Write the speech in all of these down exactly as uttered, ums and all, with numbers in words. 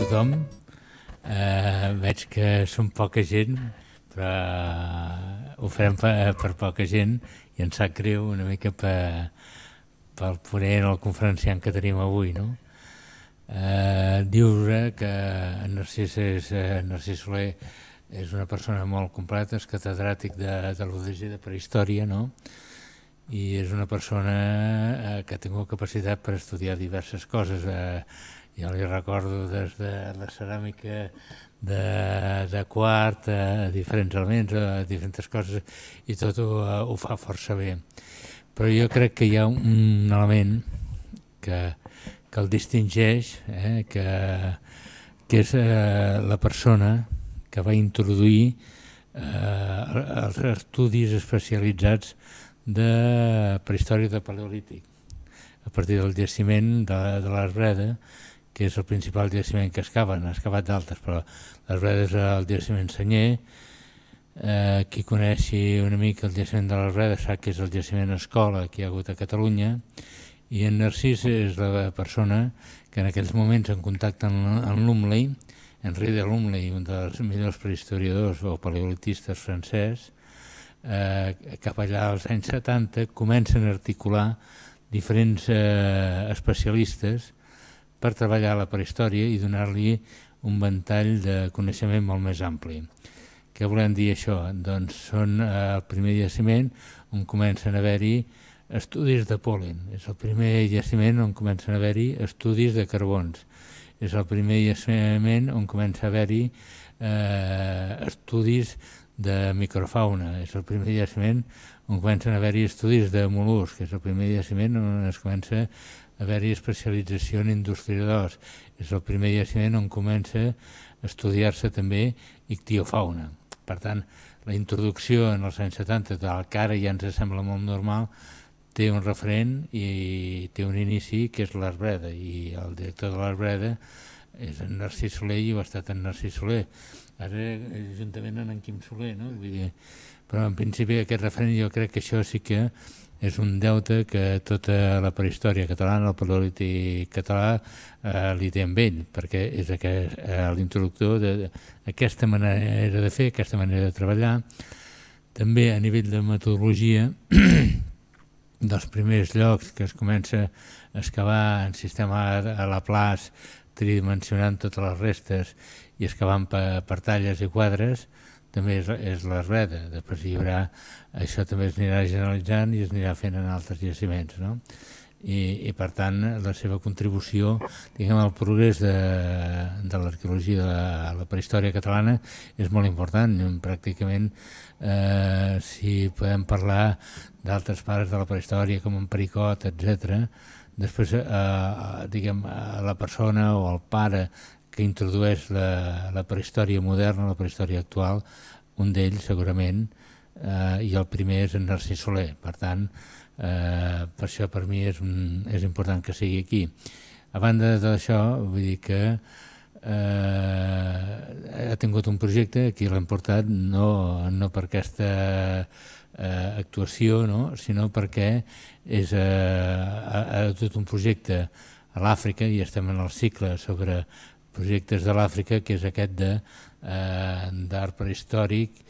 tothom. Eh, veig que som poca gent, però ho farem per, per poca gent i ens sap greu una mica per, pel ponent o el conferenciant que tenim avui, no? Eh, Diure que en Narcís, és, eh, Narcís Soler és una persona molt completa, és catedràtic de, de l'U D G de Prehistòria, no? I és una persona eh, que ha tingut capacitat per estudiar diverses coses. Eh, jo li recordo des de la ceràmica de, de quart, a diferents elements, a diferents coses, i tot ho, ho fa força bé. Però jo crec que hi ha un element que, que el distingeix, eh, que, que és eh, la persona que va introduir eh, els estudis especialitzats de prehistòria de paleolític a partir del jaciment de, de l'Arbreda, que és el principal jaciment que excaven. Ha excavat d'altres, però l'Arbreda és el jaciment senyer. Eh, qui coneixi una mica el jaciment de l'Arbreda sap que és el jaciment escola que hi ha hagut a Catalunya, i en Narcís és la persona que en aquells moments, en contacte amb, amb Lumley, Henri de Lumley, un dels millors prehistoriadors o paleolitistes francès, eh, cap allà als anys setanta comencen a articular diferents eh, especialistes per treballar la prehistòria i donar-li un ventall de coneixement molt més ampli. Què volem dir això? Doncs són eh, el primer jaciment on comencen a haver-hi estudis de pol·len. És el primer jaciment on comencen a haver-hi estudis de carbons. És el primer jaciment on comença a haver-hi eh, estudis de microfauna. És el primer jaciment on comencen a haver-hi estudis de mol·luscs. És el primer jaciment on es comença a haver-hi especialització en industriadors. És el primer jaciment on comença a estudiar-se també ictiofauna. Per tant, la introducció en els anys setanta, del que ara ja ens sembla molt normal, té un referent i té un inici que és l'Arbreda, i el director de l'Arbreda és en Narcís Soler i ho ha estat en Narcís Soler. Ara juntament amb en Quim Soler, no? Vull dir, però en principi aquest referent jo crec que això sí que és un deute que tota la prehistòria catalana, el paleolític català, eh, li té amb ell, perquè és aquest, eh, l'introductor d'aquesta manera de fer, aquesta manera de treballar. També a nivell de metodologia, dels primers llocs que es comença a excavar en sistema a Laplace, tridimensionant totes les restes i excavant per, per talles i quadres, també és, és l'Arbreda. Després hi haurà, això també es anirà generalitzant i es anirà fent en altres jaciments, no? I, i per tant la seva contribució, diguem, al progrés de, de l'arqueologia de la, la prehistòria catalana és molt important. Pràcticament eh, si podem parlar d'altres pares de la prehistòria com en Pericot, etcètera, després eh, diguem, la persona o el pare que introdueix la, la prehistòria moderna, la prehistòria actual, un d'ells segurament, eh, i el primer és en Narcís Soler. Per tant, eh, per això per mi és, un, és important que sigui aquí. A banda d'això, vull dir que eh, ha tingut un projecte, aquí l'hem portat no, no per aquesta eh, actuació, no? Sinó perquè és eh, ha, ha tot un projecte a l'Àfrica, i estem en el cicle sobre projectes de l'Àfrica, que és aquest d'art eh, prehistòric,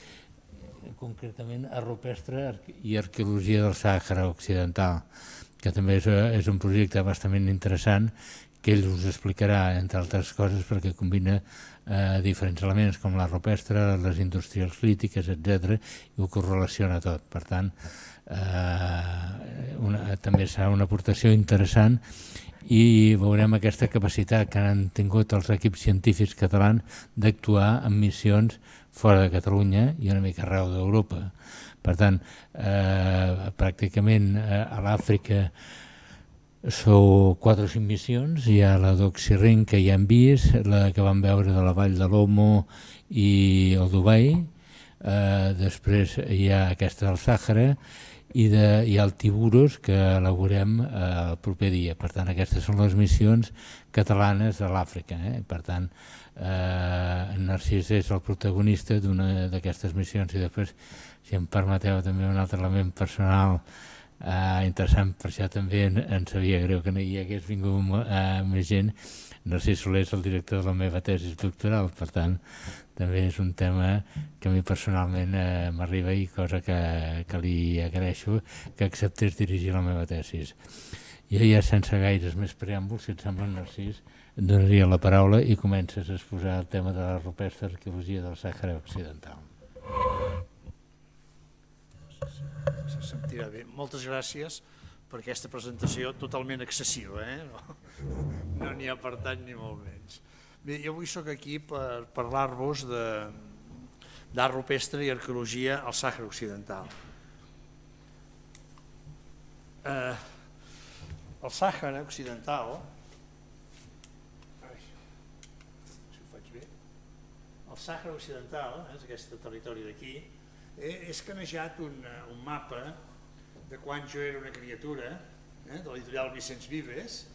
concretament art rupestre i arqueologia del Sàhara Occidental, que també és, és un projecte bastament interessant, que ell us explicarà, entre altres coses, perquè combina eh, diferents elements com l'art rupestre, les industrials lítiques, etcètera, i ho correlaciona tot. Per tant, eh, una, també serà una aportació interessant, i veurem aquesta capacitat que han tingut els equips científics catalans d'actuar en missions fora de Catalunya i una mica arreu d'Europa. Per tant, eh, pràcticament eh, a l'Àfrica sou quatre o cinc missions. Hi ha la d'Oxirring, que ja hem vist, la que vam veure de la vall de l'Omo i el Dubai, eh, després hi ha aquesta del Sàhara, i, de, i el Tiburos, que elaborem eh, el proper dia. Per tant, aquestes són les missions catalanes a l'Àfrica. Eh? Per tant, eh, en Narcís és el protagonista d'una d'aquestes missions, i després, si em permeteu també un altre element personal, interessant, per això també em sabia greu que no hi hagués vingut més gent. Narcís Soler és el director de la meva tesi doctoral, per tant, també és un tema que a mi personalment m'arriba i cosa que li agraeixo que acceptés dirigir la meva tesi. Jo ja sense gaires més preàmbuls, si et sembla, Narcís, et donaria la paraula i comences a exposar el tema de la rupestre arqueologia del Sàhara Occidental. Se sentirà bé. Moltes gràcies per aquesta presentació totalment excessiva, no n'hi ha per tant ni molt menys. Bé, jo avui soc aquí per parlar-vos d'art rupestre i arqueologia al Sàhara Occidental. El Sàhara Occidental, si ho faig bé, el Sàhara Occidental, és aquest territori d'aquí, és canejat un mapa de quan jo era una criatura, de l'editorial Vicenç Vives,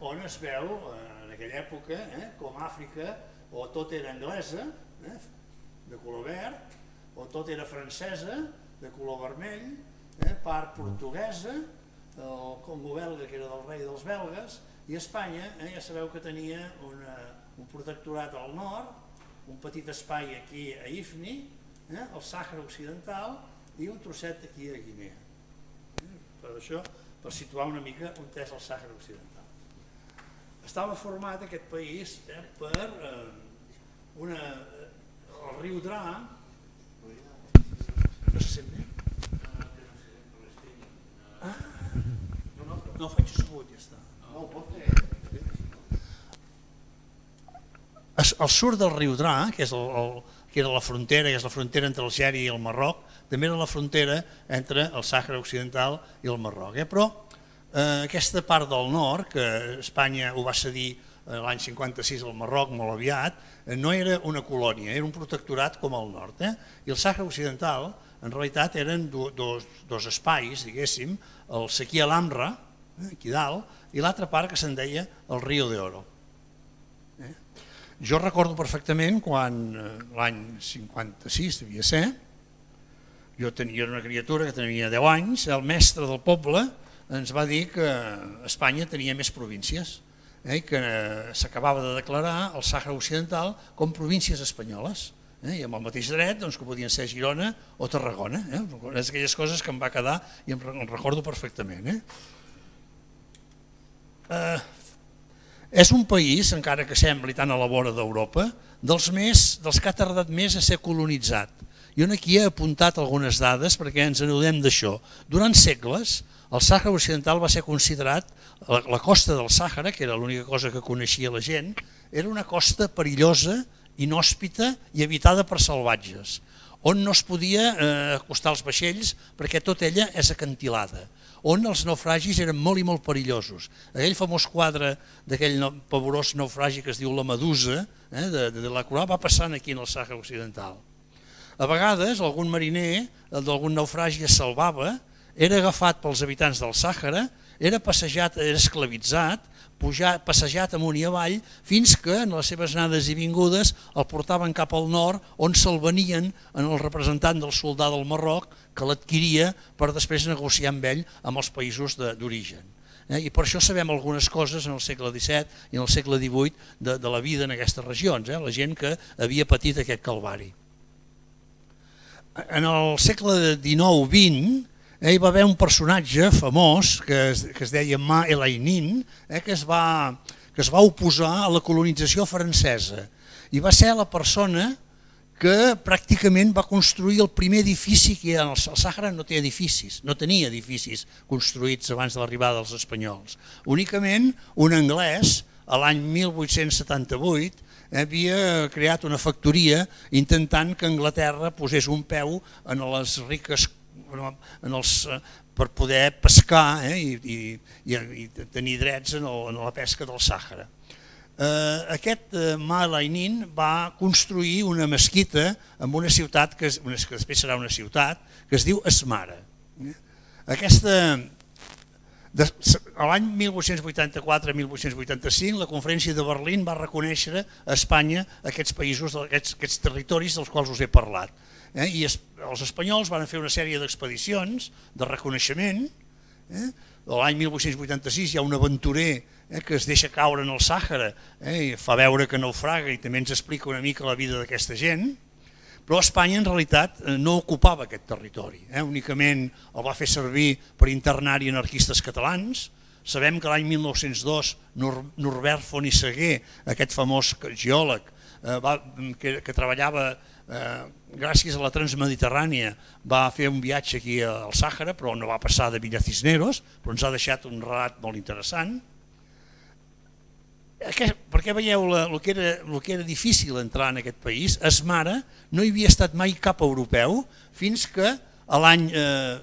on es veu en aquella època com Àfrica o tot era anglesa, de color verd, o tot era francesa, de color vermell, part portuguesa, el Congo belga, que era del rei dels belgues, i Espanya, ja sabeu que tenia un protectorat al nord, un petit espai aquí a Ifni, el Sàhara Occidental i un trosset aquí a Guinea. Per això, per situar una mica on és el Sàhara Occidental. Estava format aquest país per el riu Dra. No se sent bé? No, faig assegut, ja està. Al sud del riu Dra, que era la frontera, que és la frontera entre Algèria i el Marroc, també era la frontera entre el Sàhara Occidental i el Marroc. Però aquesta part del nord, que Espanya ho va cedir l'any cinquanta-sis al Marroc molt aviat, no era una colònia, era un protectorat com el nord. I el Sàhara Occidental, en realitat, eren dos espais, diguéssim, el Sequí Alhambra, aquí dalt, i l'altra part que se'n deia el Río de Oro. Jo recordo perfectament quan l'any cinquanta-sis devia ser, jo tenia una criatura que tenia deu anys, el mestre del poble ens va dir que Espanya tenia més províncies i que s'acabava de declarar el Sàhara Occidental com províncies espanyoles i amb el mateix dret que podien ser Girona o Tarragona. És aquelles coses que em va quedar i em recordo perfectament. És un país, encara que sembli tan a la vora d'Europa, dels que ha tardat més a ser colonitzat. Jo aquí he apuntat algunes dades perquè ens n'adonem d'això. Durant segles, el Sàhara Occidental va ser considerat, la costa del Sàhara, que era l'única cosa que coneixia la gent, era una costa perillosa, inhòspita i habitada per salvatges, on no es podia acostar els vaixells perquè tota ella és acantilada, on els naufragis eren molt i molt perillosos. Aquell famós quadre d'aquell pavorós naufragi que es diu La Medusa, de Delacroix, va passant aquí en el Sàhara Occidental. A vegades algun mariner d'algun naufragi es salvava, era agafat pels habitants del Sàhara, era passejat, era esclavitzat, passejat amunt i avall, fins que en les seves anades i vingudes el portaven cap al nord, on se'l venien en el representant del soldà del Marroc, que l'adquiria per després negociar amb ell amb els països d'origen. I per això sabem algunes coses en el segle disset i en el segle divuit de la vida en aquestes regions, la gent que havia patit aquest calvari. En el segle dinou vint hi va haver un personatge famós que es deia Ma El-Ainin, que es va oposar a la colonització francesa i va ser la persona que pràcticament va construir el primer edifici que hi ha. El Sàhara no té edificis, no tenia edificis construïts abans de l'arribada dels espanyols. Únicament un anglès, a l'any mil vuit-cents setanta-vuit, havia creat una factoria intentant que Anglaterra posés un peu en les riques per poder pescar i tenir drets en la pesca del Sàhara. Aquest Ma El-Ainin va construir una mesquita en una ciutat que després serà una ciutat que es diu Esmara. Aquesta L'any mil vuit-cents vuitanta-quatre a mil vuit-cents vuitanta-cinc la Conferència de Berlín va reconèixer a Espanya aquests països, aquests territoris dels quals us he parlat. I els espanyols van fer una sèrie d'expedicions de reconeixement Eh? L'any mil vuit-cents vuitanta-sis hi ha un aventurer eh, que es deixa caure en el Sàhara eh, i fa veure que naufraga i també ens explica una mica la vida d'aquesta gent, però Espanya en realitat no ocupava aquest territori, eh? Únicament el va fer servir per internar-hi anarquistes catalans. Sabem que l'any mil nou-cents dos Norbert Font i Saguer, aquest famós geòleg eh, va, que, que treballava eh, gràcies a la Transmediterrània, va fer un viatge aquí al Sàhara, però no va passar de Villa Cisneros, però ens ha deixat un relat molt interessant. Perquè veieu el que, era, el que era difícil entrar en aquest país. Es Mare no hi havia estat mai cap europeu fins que l'any eh,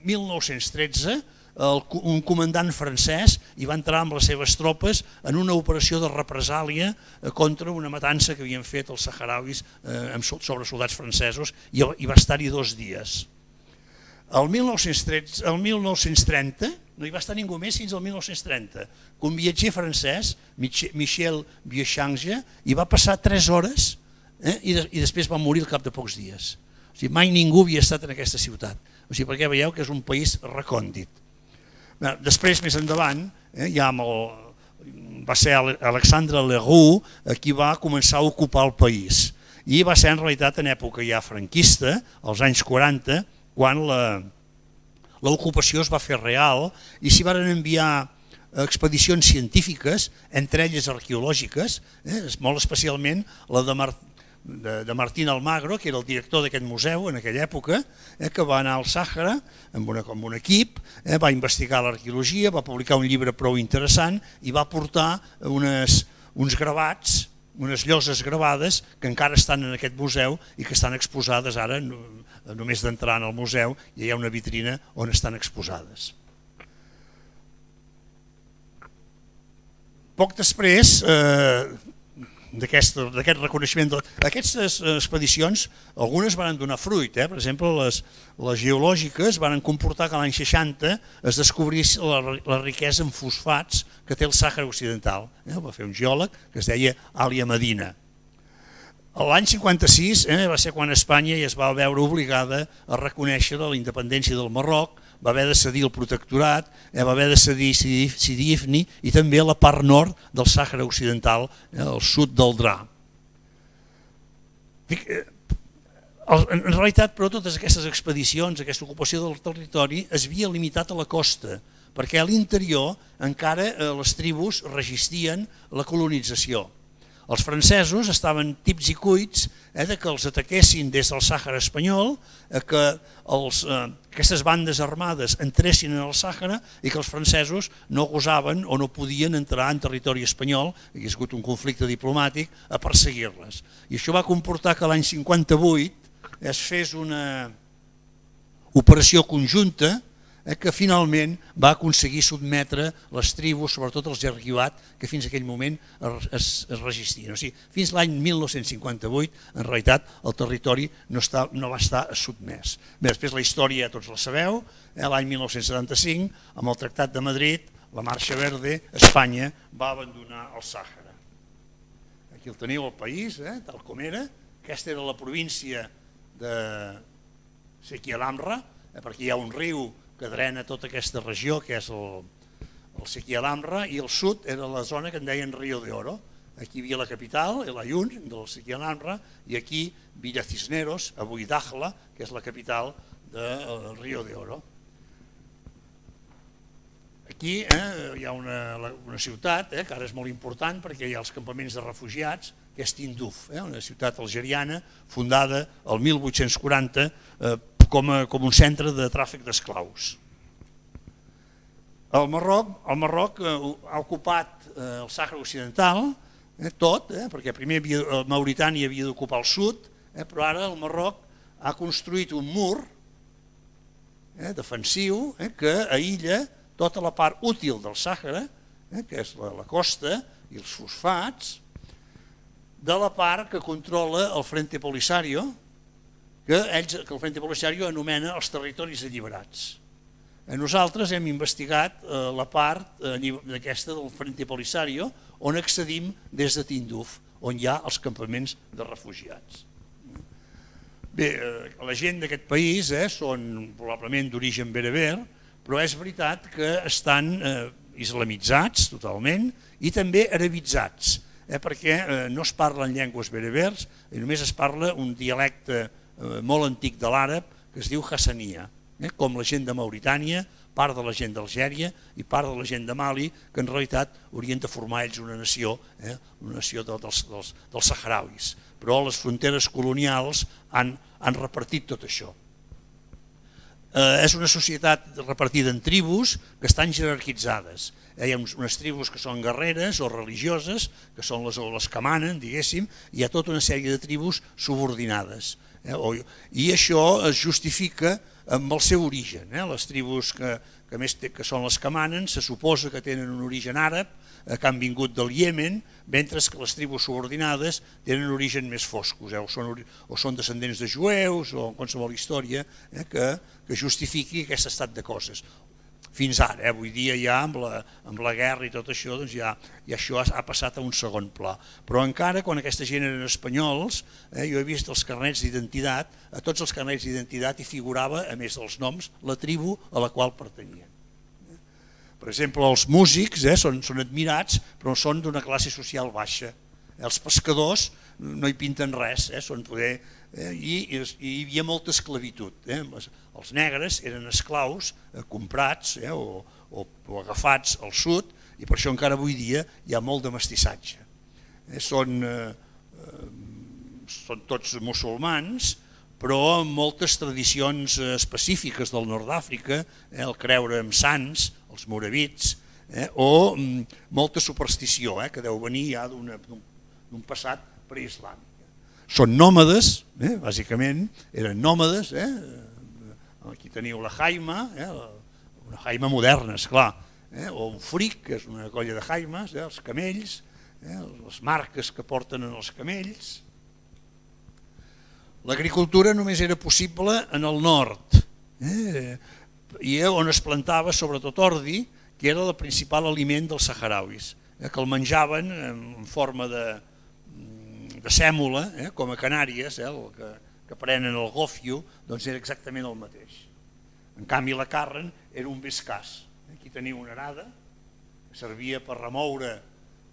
mil nou-cents tretze el, un comandant francès hi va entrar amb les seves tropes en una operació de represàlia eh, contra una matança que havien fet els saharauis eh, sobre soldats francesos i, i va estar-hi dos dies. El mil nou-cents tretze, el mil nou-cents trenta no hi va estar ningú més fins al mil nou-cents trenta, que un viatger francès, Michel Vieuchange, hi va passar tres hores eh, i, de, i després va morir al cap de pocs dies. O sigui, mai ningú havia estat en aquesta ciutat, o sigui, perquè veieu que és un país recòndit. Després, més endavant, eh, ja amb el, va ser Alexandre Leroux qui va començar a ocupar el país i va ser en realitat en època ja franquista, als anys quaranta, quan l'ocupació es va fer real i s'hi van enviar expedicions científiques, entre elles arqueològiques, eh, molt especialment la de, Mar de, de Martín Almagro, que era el director d'aquest museu en aquella època, eh, que va anar al Sàhara amb, una, amb un equip, eh, va investigar l'arqueologia, va publicar un llibre prou interessant i va portar unes, uns gravats, unes lloses gravades que encara estan en aquest museu i que estan exposades ara, només d'entrar en el museu hi ha una vitrina on estan exposades. Poc després eh, d'aquest reconeixement, aquestes expedicions, algunes van donar fruit, eh? Per exemple, les, les geològiques van comportar que l'any seixanta es descobrís la, la riquesa en fosfats que té el Sàhara Occidental. Eh? Va fer un geòleg que es deia Alia Medina. L'any cinquanta-sis eh, va ser quan Espanya ja es va veure obligada a reconèixer la independència del Marroc, va haver de cedir el protectorat, eh, va haver de cedir Sidi Ifni i també la part nord del Sàhara Occidental, eh, al sud del Dra. En realitat, però, totes aquestes expedicions, aquesta ocupació del territori es havia limitat a la costa, perquè a l'interior encara eh, les tribus resistien la colonització. Els francesos estaven tips i cuits eh, de que els ataquessin des del Sàhara espanyol, eh, que els, eh, aquestes bandes armades entressin en el Sàhara i que els francesos no gosaven o no podien entrar en territori espanyol, hi ha hagut un conflicte diplomàtic, a perseguir-les. I això va comportar que l'any cinquanta-vuit es fes una operació conjunta eh, que finalment va aconseguir sotmetre les tribus, sobretot els Jarguiat, que fins a aquell moment es, es, es resistien. O sigui, fins l'any mil nou-cents cinquanta-vuit, en realitat, el territori no, està, no va estar sotmès. Bé, després la història tots la sabeu, eh, l'any mil nou-cents setanta-cinc, amb el Tractat de Madrid, la Marxa Verde, Espanya va abandonar el Sàhara. Aquí el teniu, el país, eh, tal com era. Aquesta era la província de Sequialamra, eh, perquè hi ha un riu que drena tota aquesta regió, que és el, el Sequialamra, i el sud era la zona que en deien Río de Oro. Aquí hi havia la capital, el Ayun, del Sequialamra, i aquí Villa Cisneros, avui Dakhla, que és la capital del Río de Oro. Aquí eh, hi ha una, una ciutat eh, que ara és molt important perquè hi ha els campaments de refugiats, que és Tindouf, eh, una ciutat algeriana fundada el mil vuit-cents quaranta eh, com, a, com un centre de tràfic d'esclaus. El Marroc, el Marroc eh, ha ocupat eh, el Sàhara Occidental, eh, tot, eh, perquè primer havia, el Mauritània havia d'ocupar el sud, eh, però ara el Marroc ha construït un mur eh, defensiu eh, que aïlla tota la part útil del Sàhara, eh, que és la, la costa i els fosfats, de la part que controla el Frente Polisario, que, ells, que el Frente Polisario anomena els territoris alliberats. Nosaltres hem investigat eh, la part eh, d'aquesta del Frente Polisario, on accedim des de Tindouf, on hi ha els campaments de refugiats. Bé, eh, la gent d'aquest país eh, són probablement d'origen bereber, però és veritat que estan eh, islamitzats totalment i també arabitzats, eh, perquè eh, no es parlen llengües berebers i només es parla un dialecte eh, molt antic de l'àrab que es diu Hassania, eh, com la gent de Mauritània, part de la gent d'Algèria i part de la gent de Mali, que en realitat haurien de formar ells una nació, eh, una nació de, dels, dels, dels saharauis, però les fronteres colonials han, han repartit tot això. Eh, és una societat repartida en tribus que estan jerarquitzades. Eh, hi ha unes tribus que són guerreres o religioses, que són les, les que manen, diguéssim, i hi ha tota una sèrie de tribus subordinades. Eh, o, I això es justifica amb el seu origen. Eh? Les tribus que, que, més té, que són les que manen se suposa que tenen un origen àrab, eh, que han vingut del Iemen, mentre que les tribus subordinades tenen un origen més foscos, eh? o, són, o són descendents de jueus o qualsevol història eh? que, que justifiqui aquest estat de coses. Fins ara, eh? avui dia ja amb la, amb la guerra i tot això, doncs ja, ja això ha, ha passat a un segon pla. Però encara, quan aquesta gent eren espanyols, eh, jo he vist els carnets d'identitat, a tots els carnets d'identitat hi figurava, a més dels noms, la tribu a la qual pertanyien. Per exemple, els músics eh, són, són admirats, però són d'una classe social baixa. Els pescadors no hi pinten res, eh, són poder, eh, i, i hi havia molta esclavitud. Eh. Els negres eren esclaus eh, comprats eh, o, o, o agafats al sud, i per això encara avui dia hi ha molt de mestissatge. Eh, són, eh, són tots musulmans, però amb moltes tradicions específiques del nord d'Àfrica, eh, el creure en sants, els moravits, eh, o mm, molta superstició eh, que deu venir ja d'un passat preislàmic. Són nòmades, eh, bàsicament, eren nòmades, eh, aquí teniu la jaima, eh, una jaima moderna, esclar, eh, o un fric, que és una colla de jaimes, eh, els camells, eh, les marques que porten en els camells. L'agricultura només era possible en el nord, eh, i on es plantava sobretot ordi, que era el principal aliment dels saharauis, eh, que el menjaven en forma de, de sèmola, eh, com a Canàries, eh, el que, que prenen el gofio, doncs era exactament el mateix. En canvi la carn era un bescàs. Aquí teniu una arada, que servia per remoure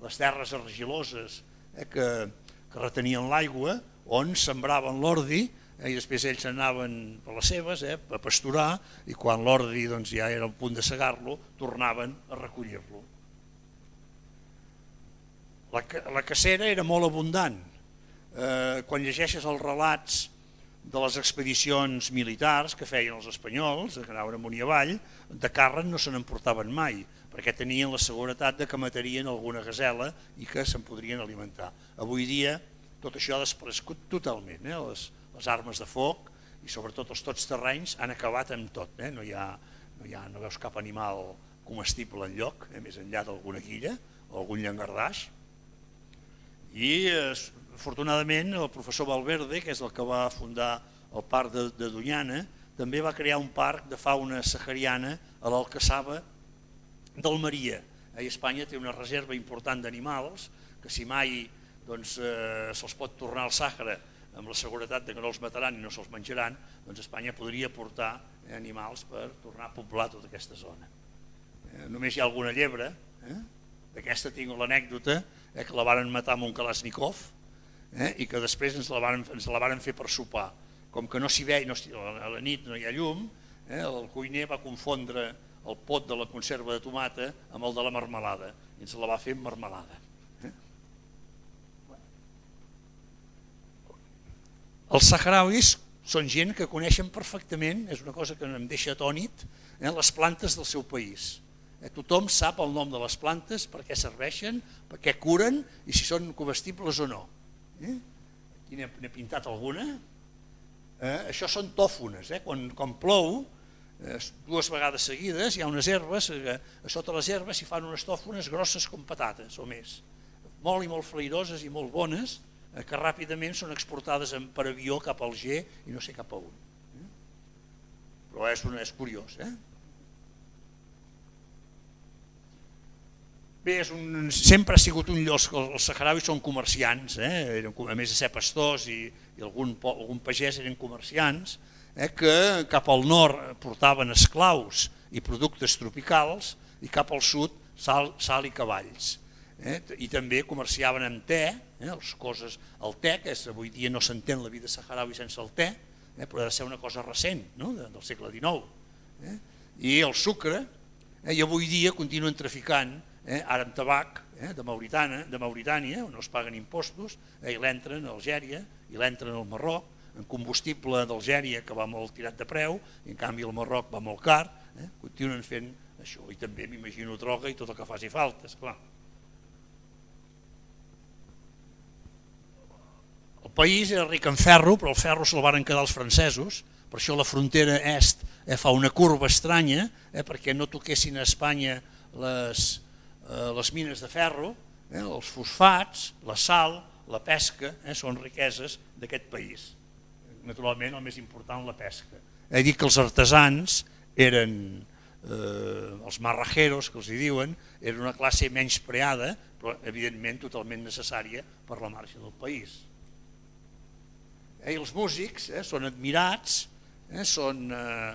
les terres argiloses eh, que, que retenien l'aigua, on sembraven l'ordi, eh, i després ells anaven per les seves eh, a pasturar, i quan l'ordi doncs, ja era al punt de segar-lo, tornaven a recollir-lo. La, la cacera era molt abundant. Eh, quan llegeixes els relats de les expedicions militars que feien els espanyols, que anaven amunt i avall, de carn no se n'emportaven mai, perquè tenien la seguretat de que matarien alguna gasela i que se'n podrien alimentar. Avui dia tot això ha desaparegut totalment, eh? les, les armes de foc i sobretot els tots terrenys han acabat amb tot, eh? no, hi ha, no, hi ha, no veus cap animal comestible enlloc, eh? més enllà d'alguna quilla o algun llangardaix. I eh, afortunadament el professor Valverde, que és el que va fundar el parc de, de Doñana, també va crear un parc de fauna sahariana a l'Alcaçaba d'Almeria. A Espanya té una reserva important d'animals que si mai doncs, eh, se'ls pot tornar al Sàhara amb la seguretat de que no els mataran i no se'ls menjaran, doncs Espanya podria portar eh, animals per tornar a poblar tota aquesta zona. Eh, només hi ha alguna llebre, eh? D'aquesta tinc l'anècdota eh, que la varen matar amb un Kalashnikov eh, i que després ens la varen, ens la varen fer per sopar. Com que no s'hi veia, no, a la nit no hi ha llum, eh, el cuiner va confondre el pot de la conserva de tomata amb el de la marmelada i ens la va fer amb marmelada. Els saharauis són gent que coneixen perfectament, és una cosa que em deixa atònit, eh, les plantes del seu país. Eh, tothom sap el nom de les plantes, per què serveixen, per què curen i si són comestibles o no. Eh? Aquí n'he pintat alguna. Eh, això són tòfones. Eh? Quan, quan plou, eh, dues vegades seguides, hi ha unes herbes, eh, a sota les herbes s'hi fan unes tòfones grosses com patates o més. Molt i molt flairoses i molt bones, que ràpidament són exportades per avió cap al Alger i no sé cap a on. Però és, una, és curiós. Eh? Bé, és un, sempre ha sigut un lloc, els saharauis són comerciants, eh? Eren, a més de ser pastors i, i algun, algun pagès eren comerciants, eh? Que cap al nord portaven esclaus i productes tropicals, i cap al sud sal, sal i cavalls. Eh? I també comerciaven amb te, eh? les coses, el te, que és, avui dia no s'entén la vida saharaui sense el te, eh? però ha de ser una cosa recent, no? de, del segle dinou. Eh? I el sucre, eh? i avui dia continuen traficant, eh? ara amb tabac, eh? de, Mauritània, de Mauritània, on no es paguen impostos, eh? i l'entren a Algèria, i l'entren al Marroc, en combustible d'Algèria que va molt tirat de preu, i en canvi el Marroc va molt car, eh? continuen fent això, i també m'imagino droga i tot el que faci falta, esclar. El país era ric en ferro, però el ferro se'l van quedar els francesos, per això la frontera est eh, fa una curva estranya, eh, perquè no toquessin a Espanya les, eh, les mines de ferro, eh, els fosfats, la sal, la pesca, eh, són riqueses d'aquest país. Naturalment el més important la pesca. He dit que els artesans eren, eh, els marrajeros que els hi diuen, eren una classe menyspreada, però evidentment totalment necessària per la marxa del país. Eh, I els músics eh, són admirats, eh, són, eh,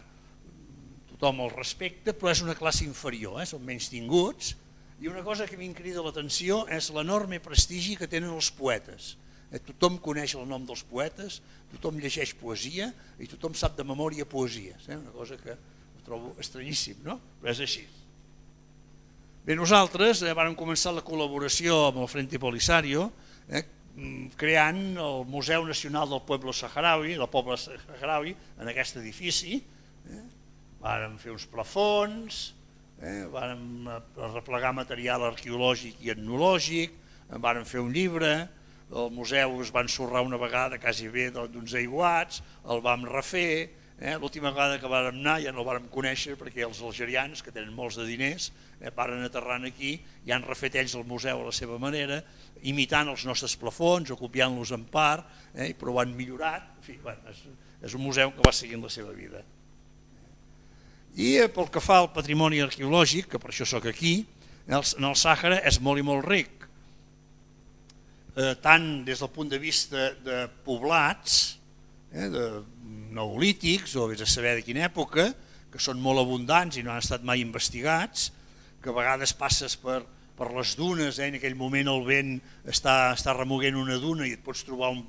tothom els respecta, però és una classe inferior, eh, són menys tinguts, i una cosa que m'incrida l'atenció és l'enorme prestigi que tenen els poetes. Eh, tothom coneix el nom dels poetes, tothom llegeix poesia i tothom sap de memòria poesies, eh, una cosa que ho trobo estranyíssim, no? Però és així. Bé, nosaltres eh, vam començar la col·laboració amb el Frente Polisario, eh, creant el Museu Nacional del Pueblo Saharaui, del poble saharaui, en aquest edifici. Eh? Vàrem fer uns plafons, eh? vàrem replegar material arqueològic i etnològic, vàrem fer un llibre, el museu es va ensorrar una vegada quasi bé d'uns aiguats, el vam refer, eh? l'última vegada que vàrem anar ja no el vàrem conèixer perquè els algerians, que tenen molts de diners, eh? varen aterrant aquí i han refet ells el museu a la seva manera, imitant els nostres plafons o copiant-los en part, eh? però ho han millorat. En fi, bueno, és, és un museu que va seguint la seva vida. I eh, pel que fa al patrimoni arqueològic, que per això sóc aquí, en el, en el Sàhara és molt i molt ric, eh, tant des del punt de vista de poblats, eh, de neolítics o vés a saber de quina època, que són molt abundants i no han estat mai investigats, que a vegades passes per, per les dunes, eh, en aquell moment el vent està, està remoguent una duna i et pots trobar un,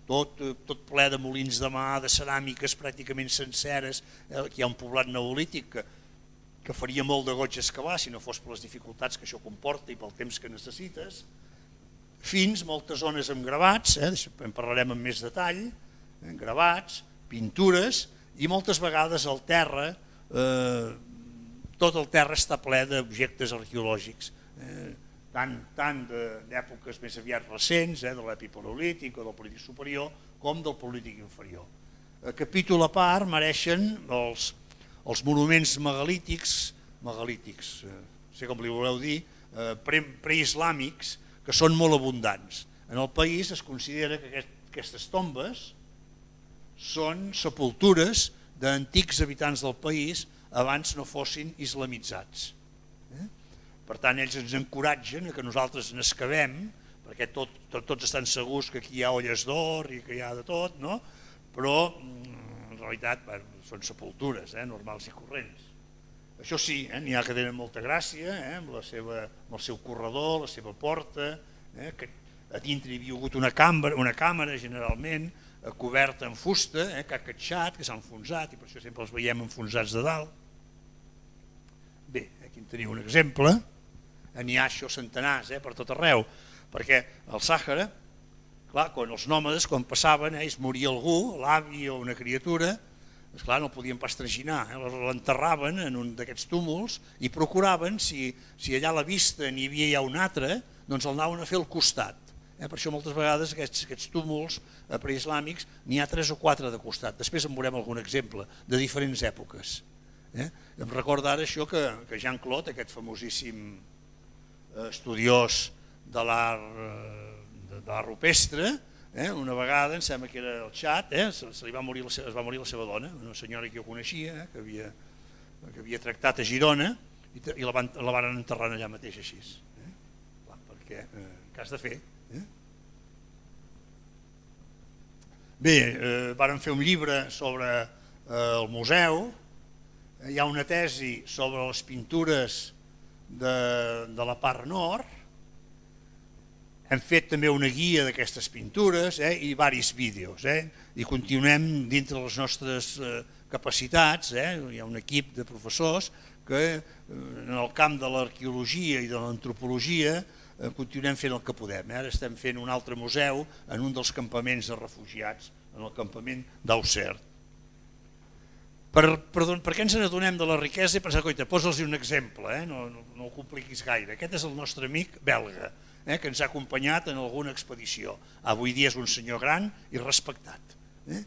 tot, tot ple de molins de mà, de ceràmiques pràcticament senceres, eh, aquí hi ha un poblat neolític que, que faria molt de goig excavar si no fos per les dificultats que això comporta i pel temps que necessites, fins moltes zones amb gravats, eh, en parlarem amb més detall, eh, gravats, pintures, i moltes vegades el terra, eh, tot el terra està ple d'objectes arqueològics, eh, tant, tant d'èpoques més aviat recents, eh, de l'epipaleolític o del polític superior, com del polític inferior. A capítol a part mereixen els, els monuments megalítics, megalítics, eh, no sé com li voleu dir, eh, pre, preislàmics, que són molt abundants. En el país es considera que aquest, aquestes tombes són sepultures d'antics habitants del país abans no fossin islamitzats. Eh? Per tant, ells ens encoratgen a que nosaltres n'excavem, perquè tot, tot, tots estan segurs que aquí hi ha olles d'or i que hi ha de tot, no? Però en realitat bueno, són sepultures, eh? normals i corrents. Això sí, eh? n'hi ha que tenen molta gràcia, eh? amb, la seva, amb el seu corredor, la seva porta, eh? que a dintre hi havia hagut una càmera, una càmera generalment, eh, coberta en fusta, eh? que ha catxat, que s'ha enfonsat, i per això sempre els veiem enfonsats de dalt. Bé, aquí en teniu un exemple, n'hi ha això centenars eh? per tot arreu, perquè al Sàhara, clar, quan els nòmades, quan passaven, eh? es moria algú, l'avi o una criatura, esclar, no el podien pas traginar, eh? l'enterraven en un d'aquests túmuls i procuraven, si, si allà a la vista n'hi havia ja un altre, doncs el anaven a fer al costat. Eh? Per això moltes vegades aquests, aquests túmuls eh, preislàmics n'hi ha tres o quatre de costat. Després en veurem algun exemple de diferents èpoques. Eh? Em recorda ara això que, que Jean-Claude, aquest famosíssim eh, estudiós de l'art eh, rupestre, Eh, una vegada, em sembla que era el Txad, eh, se, se li va morir la seva, es va morir la seva dona, una senyora que jo coneixia, eh, que, havia, que havia tractat a Girona i, i la, van, la van enterrar allà mateix així. Eh? Clar, perquè eh, què has de fer? Eh? Bé, eh, varen fer un llibre sobre eh, el museu, Hi ha una tesi sobre les pintures de, de la part nord. Hem fet també una guia d'aquestes pintures eh, i diversos vídeos. Eh, I continuem dintre de les nostres eh, capacitats. Eh, hi ha un equip de professors que eh, en el camp de l'arqueologia i de l'antropologia eh, continuem fent el que podem. Eh. Ara estem fent un altre museu en un dels campaments de refugiats, en el campament d'Auxerre. Per, per, per què ens n'adonem de la riquesa i pensar, coita, posa'ls un exemple, eh? no, no, no ho compliquis gaire. Aquest és el nostre amic belga, eh? que ens ha acompanyat en alguna expedició. Avui dia és un senyor gran i respectat. Eh?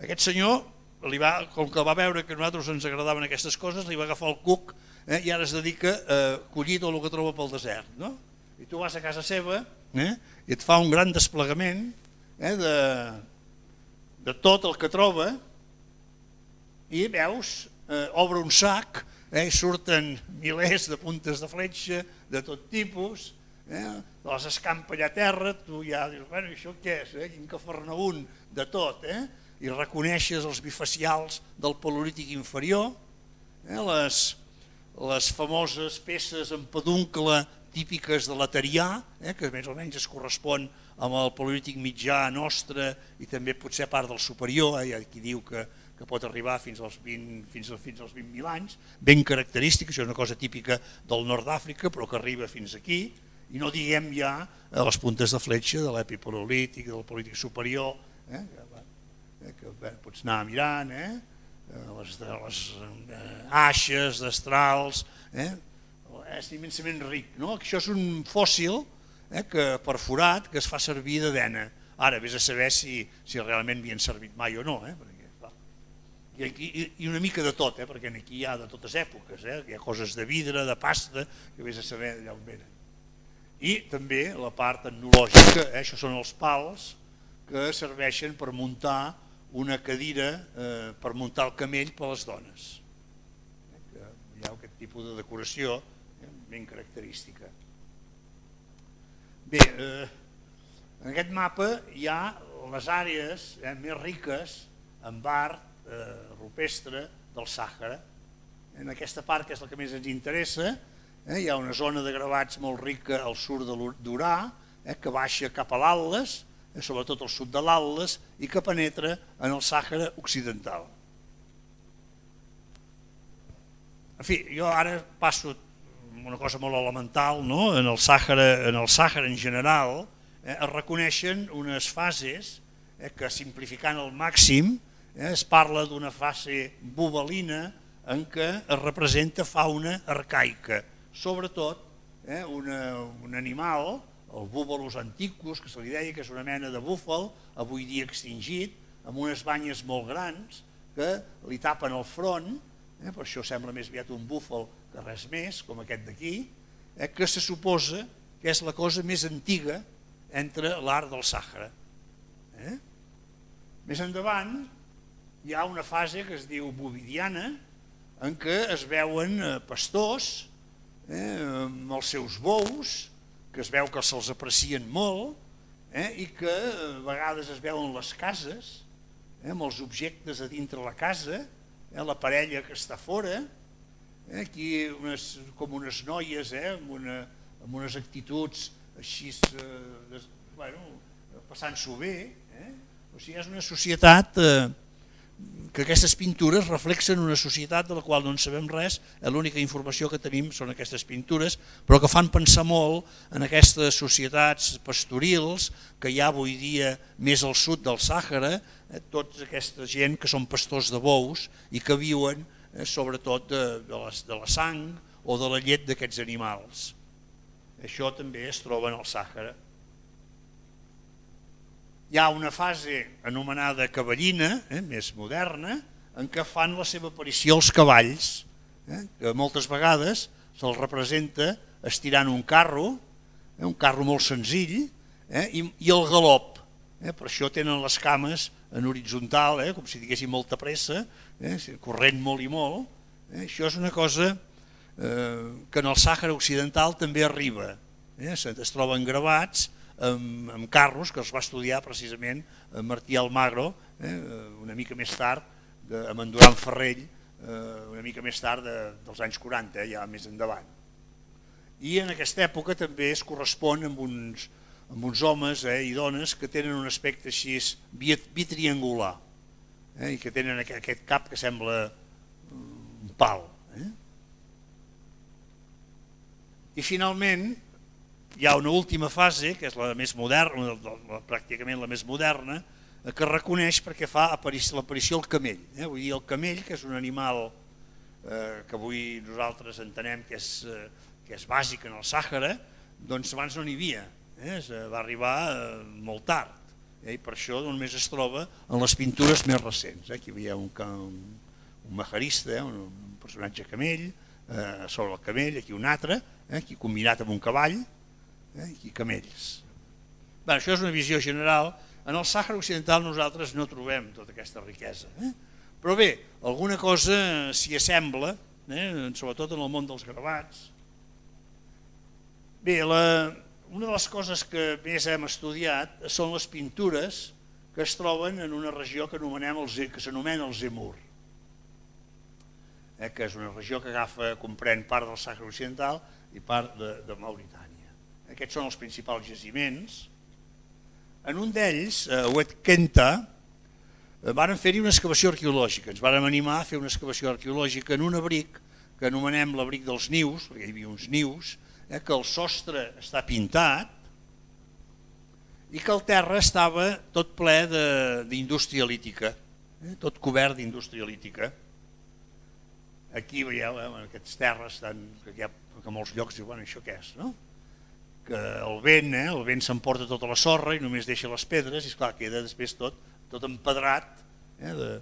Aquest senyor, li va, com que va veure que a nosaltres ens agradaven aquestes coses, li va agafar el cuc eh? i ara es dedica a collir tot el que troba pel desert. No? I tu vas a casa seva eh? i et fa un gran desplegament eh? de, de tot el que troba, i veus, eh, obre un sac, eh, surten milers de puntes de fletxa de tot tipus, eh, les escampa allà a terra, tu ja dius, bueno, això què és? Eh? Quin cafarnaún de tot, eh? I reconeixes els bifacials del paleolític inferior, eh? les, les famoses peces en peduncle típiques de l'Atarià, eh? que més o menys es correspon amb el paleolític mitjà nostre i també potser part del superior, eh? Hi ha qui diu que que pot arribar fins als vint mil anys, ben característic, això és una cosa típica del nord d'Àfrica, però que arriba fins aquí, i no diguem ja a les puntes de fletxa de l'epipaleolític, del paleolític superior, eh, que, que bé, pots anar mirant, eh, les, les eh, aixes, destrals, eh, és immensament ric. No? Això és un fòssil eh, que, perforat que es fa servir de dena. Ara, vés a saber si, si realment havien servit mai o no, eh, perquè I, i, i una mica de tot, eh, perquè aquí hi ha de totes èpoques, eh, hi ha coses de vidre, de pasta, que vés a saber d'allà on venen. I també la part etnològica, eh, això són els pals que serveixen per muntar una cadira, eh, per muntar el camell per a les dones. Eh, que hi ha aquest tipus de decoració eh, ben característica. Bé, eh, en aquest mapa hi ha les àrees eh, més riques en art Eh, rupestre del Sàhara. En aquesta part, que és la que més ens interessa, eh, hi ha una zona de gravats molt rica al sud de l'Urà, eh, que baixa cap a l'Atles, eh, sobretot al sud de l'Atles, i que penetra en el Sàhara occidental. En fi, jo ara passo una cosa molt elemental, no? En el Sàhara, en el Sàhara en general eh, es reconeixen unes fases eh, que, simplificant al màxim, es parla d'una fase bubelina en què es representa fauna arcaica, sobretot eh, una, un animal, el búbalus anticus, que se li deia que és una mena de búfal, avui dia extingit, amb unes banyes molt grans que li tapen el front, eh, per això sembla més aviat un búfal que res més, com aquest d'aquí, eh, que se suposa que és la cosa més antiga entre l'art del Sàhara. Eh? Més endavant, hi ha una fase que es diu bovidiana, en què es veuen pastors eh, amb els seus bous, que es veu que se'ls aprecien molt, eh, i que a vegades es veuen les cases, eh, amb els objectes a dintre la casa, eh, la parella que està fora, eh, aquí unes, com unes noies eh, amb, una, amb unes actituds així, eh, bueno, passant-s'ho bé. Eh? O sigui, és una societat... Eh, que aquestes pintures reflexen una societat de la qual no en sabem res, l'única informació que tenim són aquestes pintures, però que fan pensar molt en aquestes societats pastorils que hi ha avui dia més al sud del Sàhara, eh, tota aquesta gent que són pastors de bous i que viuen eh, sobretot de, de, la, de la sang o de la llet d'aquests animals. Això també es troba en el Sàhara. Hi ha una fase anomenada cavallina, eh, més moderna, en què fan la seva aparició els cavalls, eh, que moltes vegades se'ls representa estirant un carro, eh, un carro molt senzill, eh, i, i el galop. Eh, per això tenen les cames en horitzontal, eh, com si diguessin molta pressa, eh, corrent molt i molt. Eh, això és una cosa eh, que en el Sàhara occidental també arriba. Eh, es troben gravats amb, amb carros que els va estudiar precisament Martí Almagro, eh, una mica més tard, de, amb en Duran Ferrell, una mica més tard dels anys quaranta, ja més endavant. I en aquesta època també es correspon amb uns, amb uns homes i dones que tenen un aspecte així bitriangular, i que tenen aquest cap que sembla un pal. I finalment hi ha una última fase, que és la més moderna, pràcticament la més moderna, que reconeix perquè fa l'aparició el camell. Vull dir, el camell, que és un animal que avui nosaltres entenem que és bàsic en el Sàhara, doncs abans no n'hi havia, va arribar molt tard, i per això només es troba en les pintures més recents. Aquí hi havia un majarista, un personatge camell, sobre el camell, aquí un altre, aquí combinat amb un cavall, i camells. Això és una visió general. En el Sàhara Occidental nosaltres no trobem tota aquesta riquesa. Però bé, alguna cosa s'hi assembla, sobretot en el món dels gravats. Bé, una de les coses que més hem estudiat són les pintures que es troben en una regió que s'anomena el Zemur, que és una regió que agafa, comprèn part del Sàhara Occidental i part de Mauritània. Aquests són els principals jaciments. En un d'ells, a Oued Kenta, varen fer-hi una excavació arqueològica. Ens vàrem animar a fer una excavació arqueològica en un abric que anomenem l'abric dels nius, perquè hi havia uns nius, que el sostre està pintat i que el terra estava tot ple d'indústria lítica, tot cobert d'indústria lítica. Aquí veieu, aquestes terres que a molts llocs diuen, això què és, no? Que el vent, el vent s'emporta tota la sorra i només deixa les pedres i esclar, queda després tot empedrat de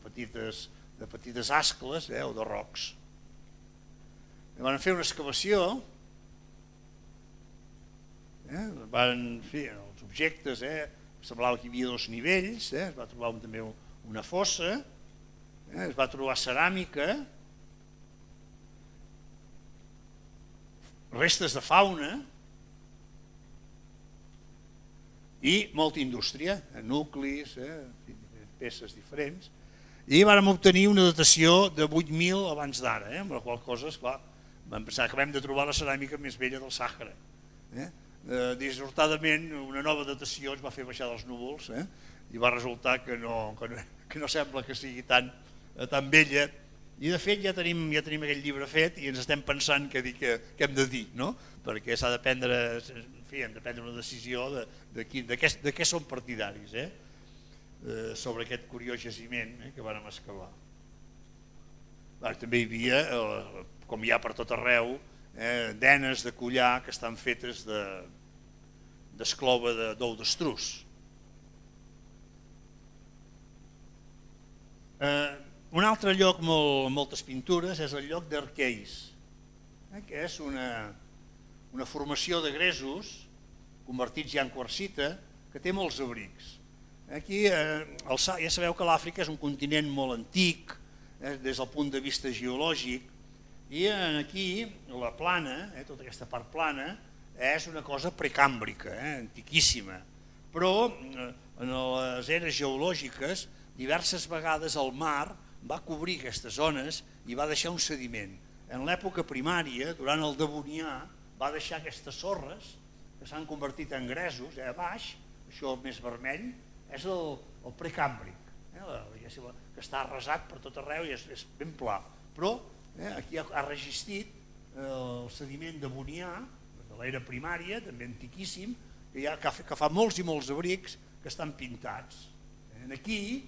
petites ascles o de rocs. Van fer una excavació, van fer els objectes, semblava que hi havia dos nivells, es va trobar també una fossa, es va trobar ceràmica, restes de fauna i molta indústria, nuclis, peces diferents, i vam obtenir una datació de vuit mil abans d'ara, amb la qual cosa, esclar, vam pensar que vam de trobar la ceràmica més vella del Sàhara. Dissortadament, una nova datació ens va fer baixar dels núvols i va resultar que no sembla que sigui tan vella. I de fet ja tenim aquell llibre fet i ens estem pensant què hem de dir, perquè s'ha de prendre una decisió de què som partidaris sobre aquest curiós jaciment que vàrem excavar. També hi havia, com hi ha per tot arreu, denes de collar que estan fetes d'esclova d'ou d'estruç. Un altre lloc amb moltes pintures és el lloc d'Arqueis, que és una formació de gresos convertits ja en quarsita que té molts abrics. Aquí ja sabeu que l'Àfrica és un continent molt antic des del punt de vista geològic i aquí la plana, tota aquesta part plana, és una cosa precàmbrica, antiquíssima, però en les eres geològiques diverses vegades el mar va cobrir aquestes zones i va deixar un sediment. En l'època primària, durant el Devonià, va deixar aquestes sorres que s'han convertit en gresos a baix, això més vermell, és el precàmbric, que està arrasat per tot arreu i és ben pla. Però aquí ha resistit el sediment devonià, de l'era primària, també antiquíssim, que fa molts i molts abrics que estan pintats. Aquí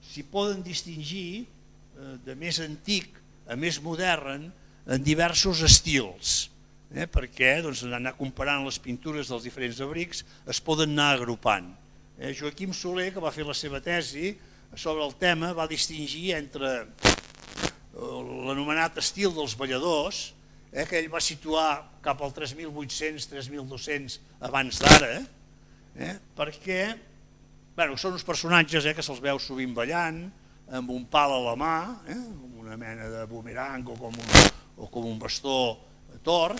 s'hi poden distingir de més antic a més modern en diversos estils, perquè anar comparant les pintures dels diferents abrics es poden anar agrupant. Joaquim Soler, que va fer la seva tesi sobre el tema, va distingir entre l'anomenat estil dels balladors, que ell va situar cap al tres mil vuit-cents tres mil dos-cents abans d'ara, perquè són uns personatges que se'ls veu sovint ballant, amb un pal a la mà, amb una mena de bumerang o com un bastó tort,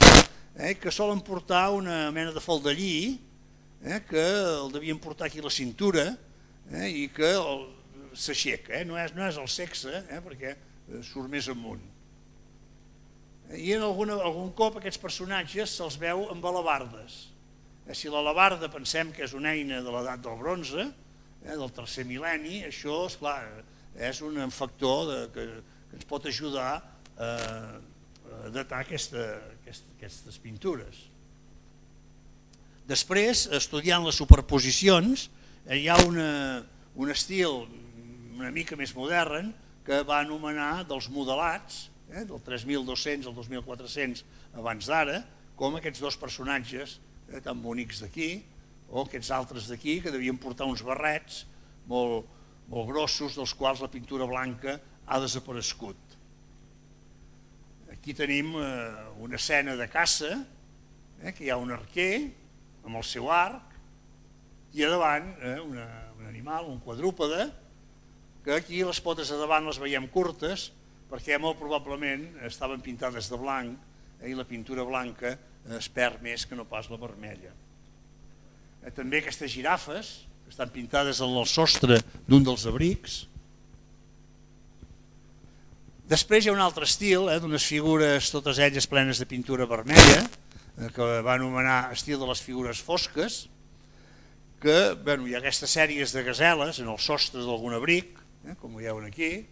que solen portar una mena de faldellí, que el devien portar aquí a la cintura i que s'aixeca, no és el sexe, perquè surt més amunt. I en algun cop aquests personatges se'ls veu amb alabardes. Si l'alabarda pensem que és una eina de l'edat del bronze, del tercer mil·lenni, això és un factor que ens pot ajudar a datar aquestes pintures. Després, estudiant les superposicions, hi ha un estil una mica més modern que va anomenar dels modelats, del tres mil dos-cents al dos mil quatre-cents abans d'ara, com aquests dos personatges tan bonics d'aquí, o aquests altres d'aquí que devien portar uns barrets molt grossos dels quals la pintura blanca ha desaparegut. Aquí tenim una escena de caça, que hi ha un arquer amb el seu arc i a davant un animal, un quadrúpede, que aquí les potes a davant les veiem curtes perquè molt probablement estaven pintades de blanc i la pintura blanca es perd més que no pas la vermella. També aquestes girafes que estan pintades en el sostre d'un dels abrics. Després hi ha un altre estil, d'unes figures totes elles plenes de pintura vermella, que va anomenar estil de les figures fosques, que hi ha aquestes sèries de gaseles en el sostre d'algun abric, com ho veuen aquí.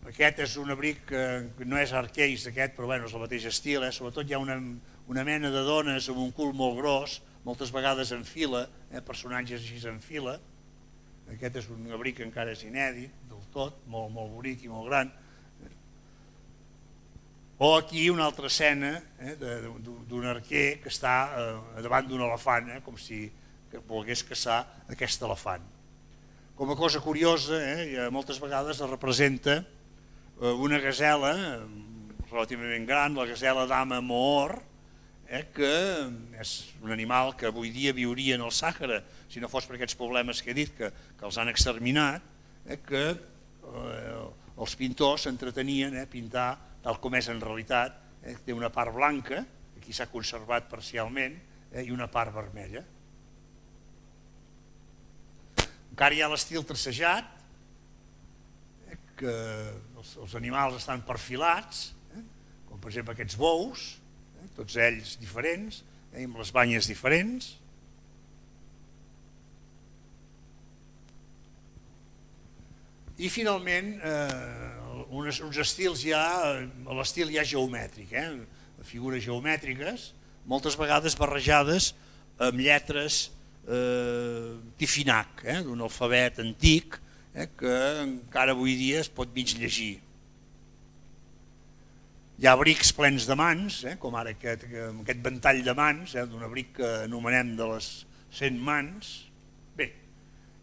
Aquest és un abric que no és arqueis d'aquest, però és el mateix estil. Sobretot hi ha una mena de dones amb un cul molt gros, moltes vegades en fila, personatges així en fila. Aquest és un abric que encara és inèdit del tot, molt bonic i molt gran. O aquí una altra escena d'un arquer que està davant d'un elefant, com si volgués caçar aquest elefant. Com a cosa curiosa, moltes vegades es representa una gasela relativament gran, la gasela dama Moor, que és un animal que avui dia viuria en el Sàhara, si no fos per aquests problemes que he dit, que els han exterminat, que els pintors s'entretenien a pintar tal com és en realitat. Té una part blanca, que aquí s'ha conservat parcialment, i una part vermella. Encara hi ha l'estil tracejat, que els animals estan perfilats, com per exemple aquests bous, tots ells diferents, amb les banyes diferents. I finalment, uns estils ja, l'estil ja geomètric, figures geomètriques, moltes vegades barrejades amb lletres Tifinagh, d'un alfabet antic que encara avui dia es pot mig llegir. Hi ha abrics plens de mans, com ara aquest ventall de mans, d'un abric que anomenem de les cent mans. Bé,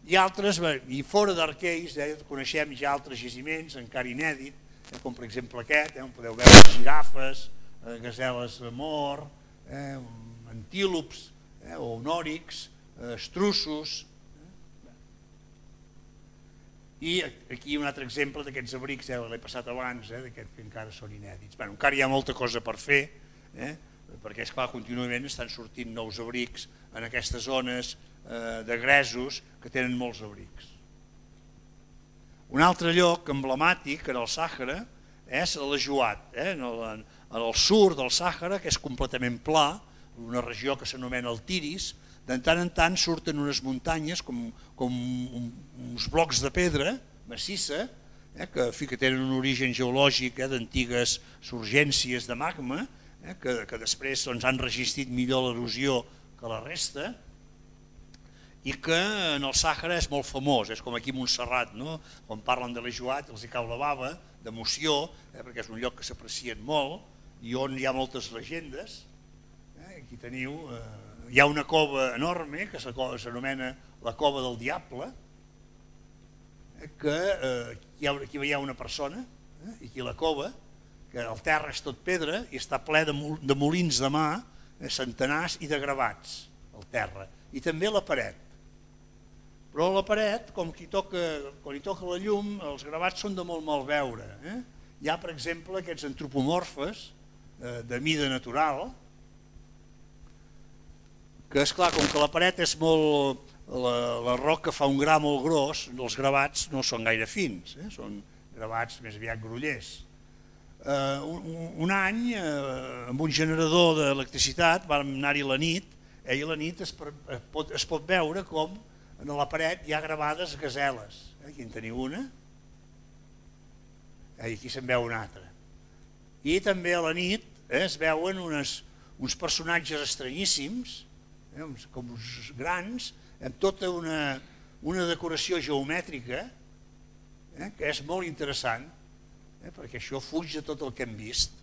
i altres, i fora d'arqueis, coneixem ja altres jaciments encara inèdits, com per exemple aquest, on podeu veure girafes, gaseles Moor, antílops o onòrics, estruços. I aquí un altre exemple d'aquests abrics, l'he passat abans, que encara són inèdits. Encara hi ha molta cosa per fer, perquè és clar, contínuament estan sortint nous abrics en aquestes zones de gresos que tenen molts abrics. Un altre lloc emblemàtic en el Sàhara és l'Ajuat, en el sud del Sàhara, que és completament pla, una regió que s'anomena el Tiris. De tant en tant surten unes muntanyes com uns blocs de pedra massissa que tenen un origen geològic d'antigues surgències de magma que després han resistit millor l'erosió que la resta i que en el Sàhara és molt famós, és com aquí a Montserrat, quan parlen de l'Ajuat els hi cau la bava d'emoció perquè és un lloc que s'aprecien molt i on hi ha moltes llegendes. Aquí teniu... Hi ha una cova enorme que s'anomena la Cova del Diable, que aquí hi ha una persona, i aquí la cova, que el terra és tot pedra i està ple de molins de mà, centenars i de gravats, el terra, i també la paret. Però la paret, com que quan hi toca la llum, els gravats són de molt mal veure. Hi ha, per exemple, aquests antropomorfes de mida natural, que és clar, com que la paret és molt la roca fa un gra molt gros, els gravats no són gaire fins, són gravats més aviat grollers. Un any, amb un generador d'electricitat, vam anar-hi la nit, i a la nit es pot veure com a la paret hi ha gravades gaseles. Aquí en teniu una, i aquí se'n veu una altra. I també a la nit es veuen uns personatges estranyíssims, com uns grans, amb tota una decoració geomètrica que és molt interessant, perquè això fuig de tot el que hem vist.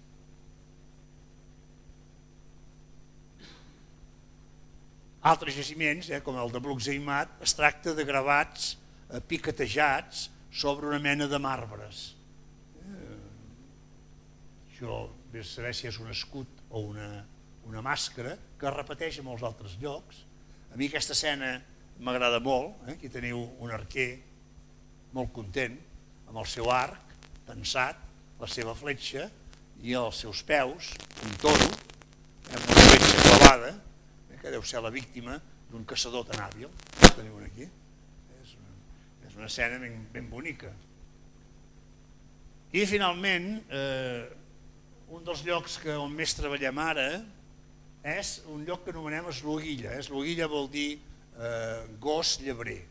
Altres jaciments, com el de Brucseimat, es tracta de gravats piquetejats sobre una mena de marbres. Això, vés a saber si és un escut o una màscara, que es repeteix en molts altres llocs. A mi aquesta escena m'agrada molt, aquí teniu un arquer molt content, amb el seu arc tensat, la seva fletxa i els seus peus, un toro, amb una fletxa clavada, que deu ser la víctima d'un caçador tan hàbil. Teniu aquí. És una escena ben bonica. I finalment, un dels llocs on més treballem ara és un lloc que anomenem Esloguilla. Esloguilla vol dir gos llebrer.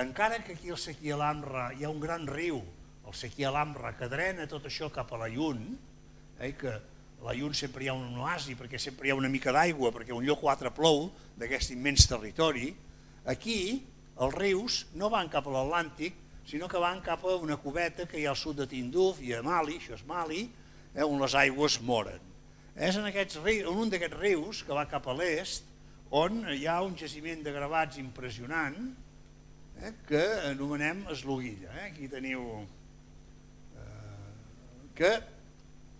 Encara que aquí al Sequier l'Amra hi ha un gran riu, el Sequier l'Amra, que drena tot això cap a la Llun, que a la Llun sempre hi ha un oasi perquè sempre hi ha una mica d'aigua, perquè un lloc o altre plou d'aquest immens territori, aquí els rius no van cap a l'Atlàntic, sinó que van cap a una cubeta que hi ha al sud de Tinduf i a Mali, això és Mali, on les aigües moren. És en un d'aquests rius que va cap a l'est on hi ha un jaciment de gravats impressionant que anomenem Esloguilla. Aquí teniu que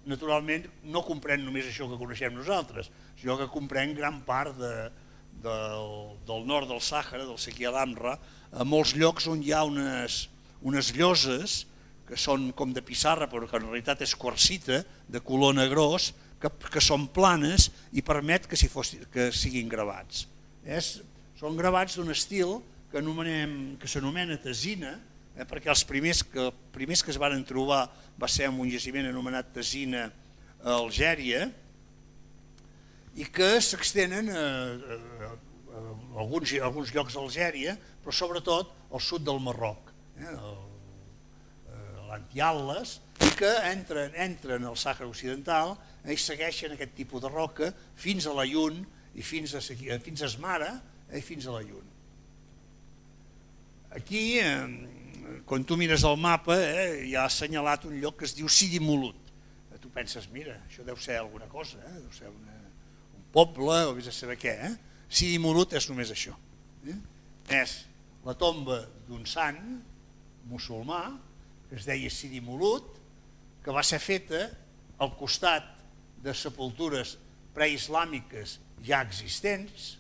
naturalment no comprèn només això que coneixem nosaltres, sinó que comprèn gran part del nord del Sàhara, del Sequier l'Amra, a molts llocs on hi ha unes lloses que són com de pissarra però que en realitat és quarsita, de color negrós, que són planes i permet que siguin gravats. Són gravats d'un estil que s'anomena tesina, perquè els primers que es van trobar va ser en un jaciment anomenat Tesina a Algèria i que s'extenen a alguns llocs d'Algèria, però sobretot al sud del Marroc, a l'Antiatles, i que entren al Sàhara Occidental i segueixen aquest tipus de roca fins a la Llun i fins a Esmara i fins a la Llun. Aquí, quan tu mires el mapa, hi ha assenyalat un lloc que es diu Sidi Mulut. Tu penses, mira, això deu ser alguna cosa, deu ser un poble o vés a saber què. Sidi Mulut és només això. És la tomba d'un sant musulmà que es deia Sidi Mulut, que va ser feta al costat de sepultures preislàmiques ja existents,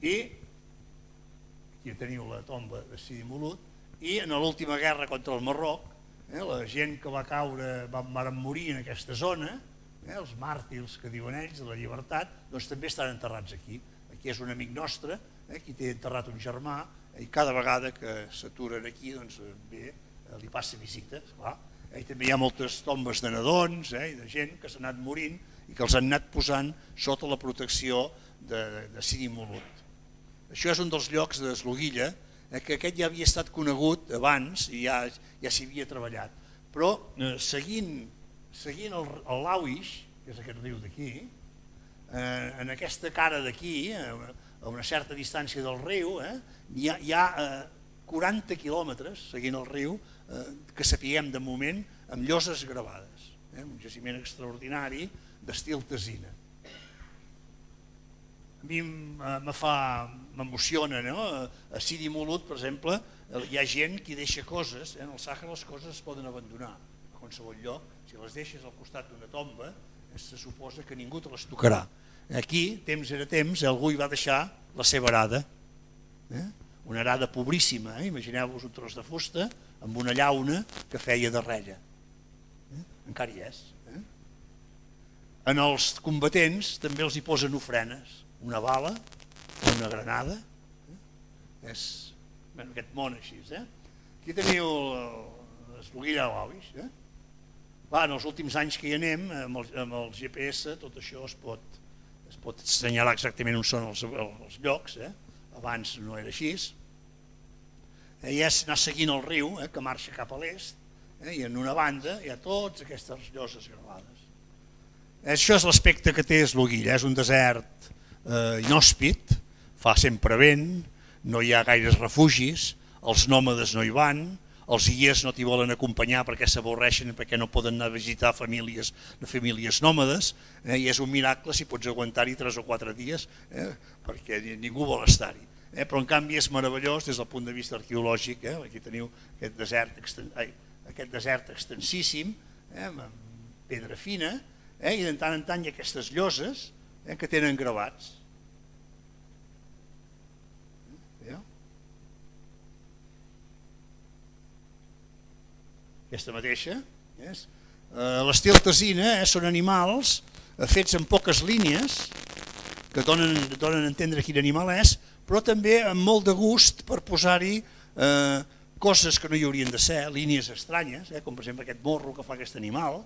i aquí teniu la tomba de Sidi Mulut, i en l'última guerra contra el Marroc, la gent que va caure, van morir en aquesta zona, els màrtirs que diuen ells de la llibertat, doncs també estan enterrats aquí. Aquí és un amic nostre, aquí té enterrat un germà, i cada vegada que s'aturen aquí, doncs bé, li passa visita, esclar. També hi ha moltes tombes de nadons i de gent que s'han anat morint i que els han anat posant sota la protecció de Sidi Mulut. Això és un dels llocs d'Esloguilla, que aquest ja havia estat conegut abans i ja s'hi havia treballat. Però seguint el Lauix, que és aquest riu d'aquí, en aquesta cara d'aquí, a una certa distància del riu, hi ha quaranta quilòmetres, seguint el riu, que sapiguem de moment, amb lloses gravades. Un jaciment extraordinari d'estil tesina. A mi m'emociona, a Sidi Mulut, per exemple, hi ha gent que deixa coses, en el Sàhara les coses es poden abandonar a qualsevol lloc, si les deixes al costat d'una tomba, se suposa que ningú te les tocarà. Aquí, temps era temps, algú hi va deixar la seva arada, una arada pobríssima, imagineu-vos un tros de fusta amb una llauna que feia de rella. Encara hi és. En els combatents també els hi posen ofrenes, una bala una granada. És aquest món així. Aquí teniu l'Esloguilla Lauix. En els últims anys que hi anem, amb el G P S, tot això es pot es pot assenyalar exactament on són els llocs. Abans no era així. I és anar seguint el riu, que marxa cap a l'est, i en una banda hi ha totes aquestes lloses gravades. Això és l'aspecte que té Esloguilla. És un desert inhòspit, fa sempre vent, no hi ha gaires refugis, els nòmades no hi van, els guies no t'hi volen acompanyar perquè s'avorreixen, perquè no poden anar a visitar famílies, famílies nòmades, i és un miracle si pots aguantar-hi tres o quatre dies, perquè ningú vol estar-hi. Però en canvi és meravellós des del punt de vista arqueològic. Aquí teniu aquest desert, aquest desert extensíssim, amb pedra fina, i de tant en tant hi ha aquestes lloses que tenen gravats. Aquesta mateixa. L'estil tesina són animals fets en poques línies que donen a entendre quin animal és, però també amb molt de gust per posar-hi coses que no hi haurien de ser, línies estranyes, com per exemple aquest morro que fa aquest animal,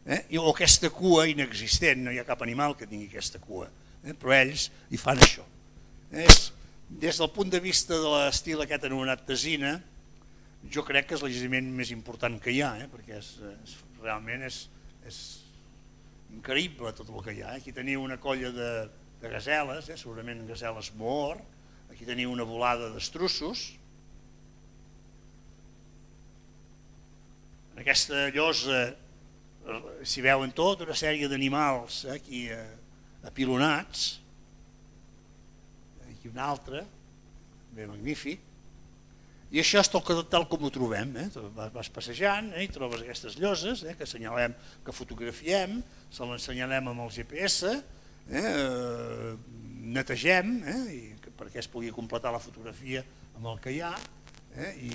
o aquesta cua inexistent, no hi ha cap animal que tingui aquesta cua, però ells hi fan això. Des del punt de vista de l'estil aquest anomenat tesina, jo crec que és l'allotjament més important que hi ha, perquè realment és increïble tot el que hi ha. Aquí teniu una colla de gaseles, segurament gaseles moor, aquí teniu una volada d'estruços. En aquesta llosa s'hi veuen tota una sèrie d'animals aquí apilonats, aquí un altre, bé magnífic. I això és tal com ho trobem. Vas passejant i trobes aquestes lloses que assenyalem, que fotografiem, se l'ensenyalem amb el G P S, netegem perquè es pugui completar la fotografia amb el que hi ha i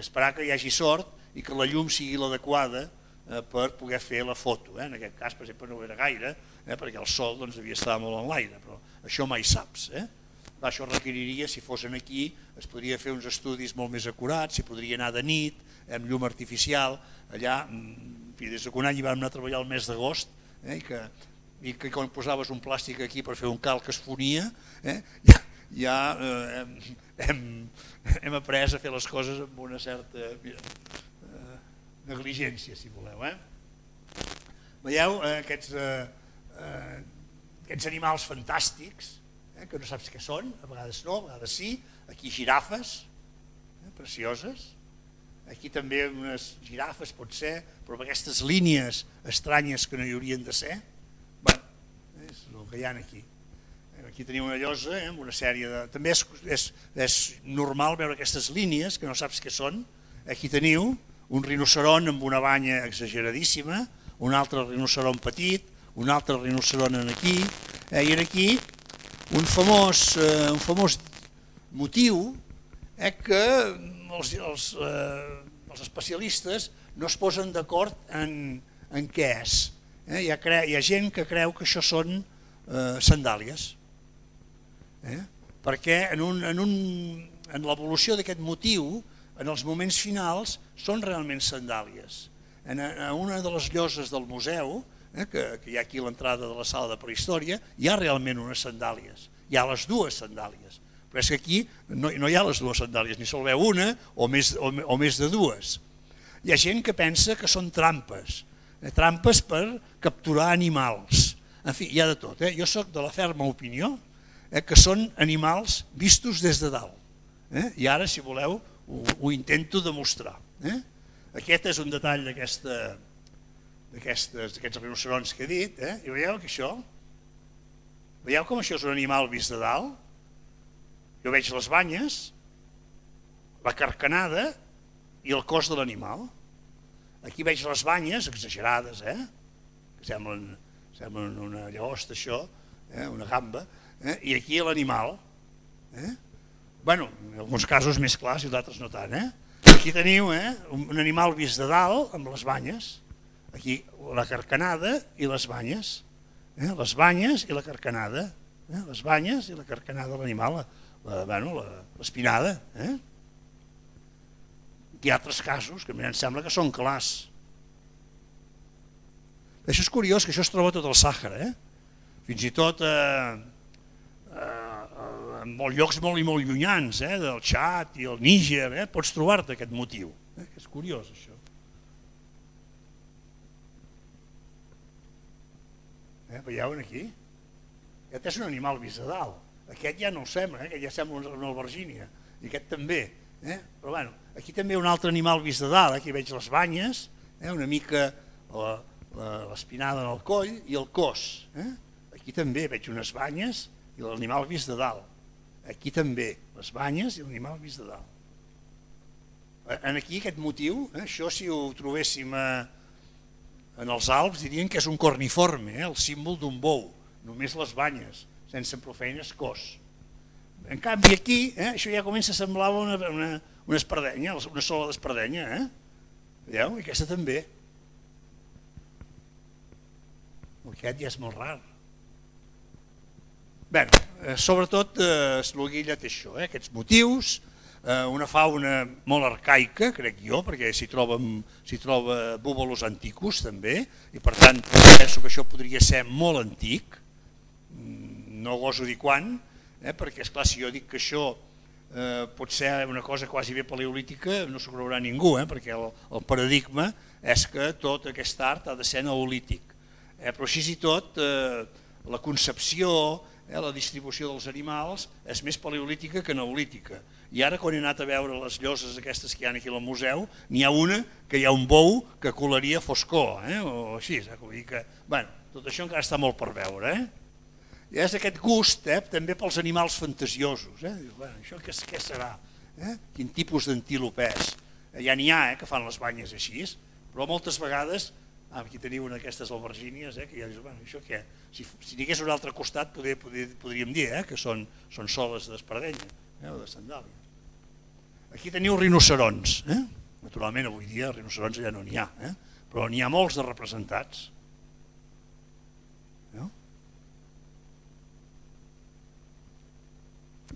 esperar que hi hagi sort i que la llum sigui l'adequada per poder fer la foto. En aquest cas, per exemple, no ho era gaire perquè el sol devia estar molt en l'aire, però això mai saps. Això requeriria, si fossin aquí, es podria fer uns estudis molt més acurats, s'hi podria anar de nit, amb llum artificial. Allà, des d'un any hi vam anar a treballar el mes d'agost, i que quan posaves un plàstic aquí per fer un calc que es fonia, ja hem après a fer les coses amb una certa negligència, si voleu. Veieu aquests animals fantàstics, que no saps què són, a vegades no, a vegades sí. Aquí girafes, precioses. Aquí també unes girafes, pot ser, però amb aquestes línies estranyes que no hi haurien de ser. Bé, és el que hi ha aquí. Aquí teniu una llosa amb una sèrie de... També és normal veure aquestes línies, que no saps què són. Aquí teniu un rinoceron amb una banya exageradíssima, un altre rinoceron petit, un altre rinoceron aquí, i aquí un famós motiu que els especialistes no es posen d'acord en què és. Hi ha gent que creu que això són sandàlies, perquè en l'evolució d'aquest motiu, en els moments finals, són realment sandàlies. En una de les lloses del museu, que hi ha aquí a l'entrada de la sala de prehistòria, hi ha realment unes sandàlies, hi ha les dues sandàlies, però és que aquí no hi ha les dues sandàlies, ni sol veu una o més de dues. Hi ha gent que pensa que són trampes, trampes per capturar animals, en fi, hi ha de tot. Jo soc de la ferma opinió que són animals vistos des de dalt, i ara, si voleu, ho intento demostrar. Aquest és un detall d'aquesta d'aquests rinoceronts que he dit, i veieu que això, veieu com això és un animal vist de dalt? Jo veig les banyes, la carcanada i el cos de l'animal. Aquí veig les banyes, exagerades, que semblen una llagosta, això, una gamba, i aquí l'animal. Bé, en alguns casos més clars i d'altres no tant. Aquí teniu un animal vist de dalt amb les banyes, aquí la carcanada i les banyes, les banyes i la carcanada. eh? Les banyes i la carcanada de l'animal, l'espinada. Eh? Hi ha altres casos que a mi em sembla que són clars. Això és curiós, que això es troba a tot el Sàhara, eh? Fins i tot eh, eh, en molts llocs molt i molt llunyans, eh? Del Txad i el Níger, eh? Pots trobar-te aquest motiu. Eh? És curiós, això. Eh? Veieu aquí? Aquest és un animal vist de dalt. Aquest ja no el sembla, eh? Aquest ja sembla una albergínia. I aquest també. Eh? Però bueno, aquí també un altre animal vist de dalt. Aquí veig les banyes, eh? Una mica l'espinada en el coll i el cos. Eh? Aquí també veig unes banyes i l'animal vist de dalt. Aquí també les banyes i l'animal vist de dalt. En aquí aquest motiu, eh? Això si ho trobéssim a, en els Alps dirien que és un corniforme, eh? El símbol d'un bou, només les banyes, sense prou feines cos. En canvi aquí, eh? Això ja comença a semblar una, una, una espardenya, una sola d'espardenya. Eh? Veieu? I aquesta també. Aquest ja és molt rar. Bé, eh, sobretot eh, l'Oguilla té això, eh, aquests motius, eh, una fauna molt arcaica, crec jo, perquè s'hi troba, troba búbalos anticus també, i per tant penso que això podria ser molt antic, no goso dir quan, eh, perquè esclar, si jo dic que això eh, pot ser una cosa quasi bé paleolítica, no s'ho creurà ningú, eh, perquè el, el paradigma és que tot aquest art ha de ser neolític. Eh, però així i tot eh, la concepció, eh, la distribució dels animals és més paleolítica que neolítica. I ara quan he anat a veure les lloses aquestes que hi ha aquí al museu, n'hi ha una que hi ha un bou que colaria foscor, eh, o així. Eh, vull dir que, bueno, tot això encara està molt per veure. Eh? I és aquest gust eh, també pels animals fantasiosos. Eh? Dius, bueno, això què, què serà? Eh? Quin tipus d'antílop és? Eh, ja n'hi ha eh, que fan les banyes així, però moltes vegades... Ah, aquí teniu una d'aquestes albergínies, eh, que ja dius, bueno, això què? Si, si n'hi hagués un altre costat poder, poder, podríem dir eh, que són, són soles d'espardenya eh, o de sandàlia. Aquí teniu rinocerons. Eh? Naturalment avui dia rinocerons ja no n'hi ha, eh? Però n'hi ha molts de representats. No?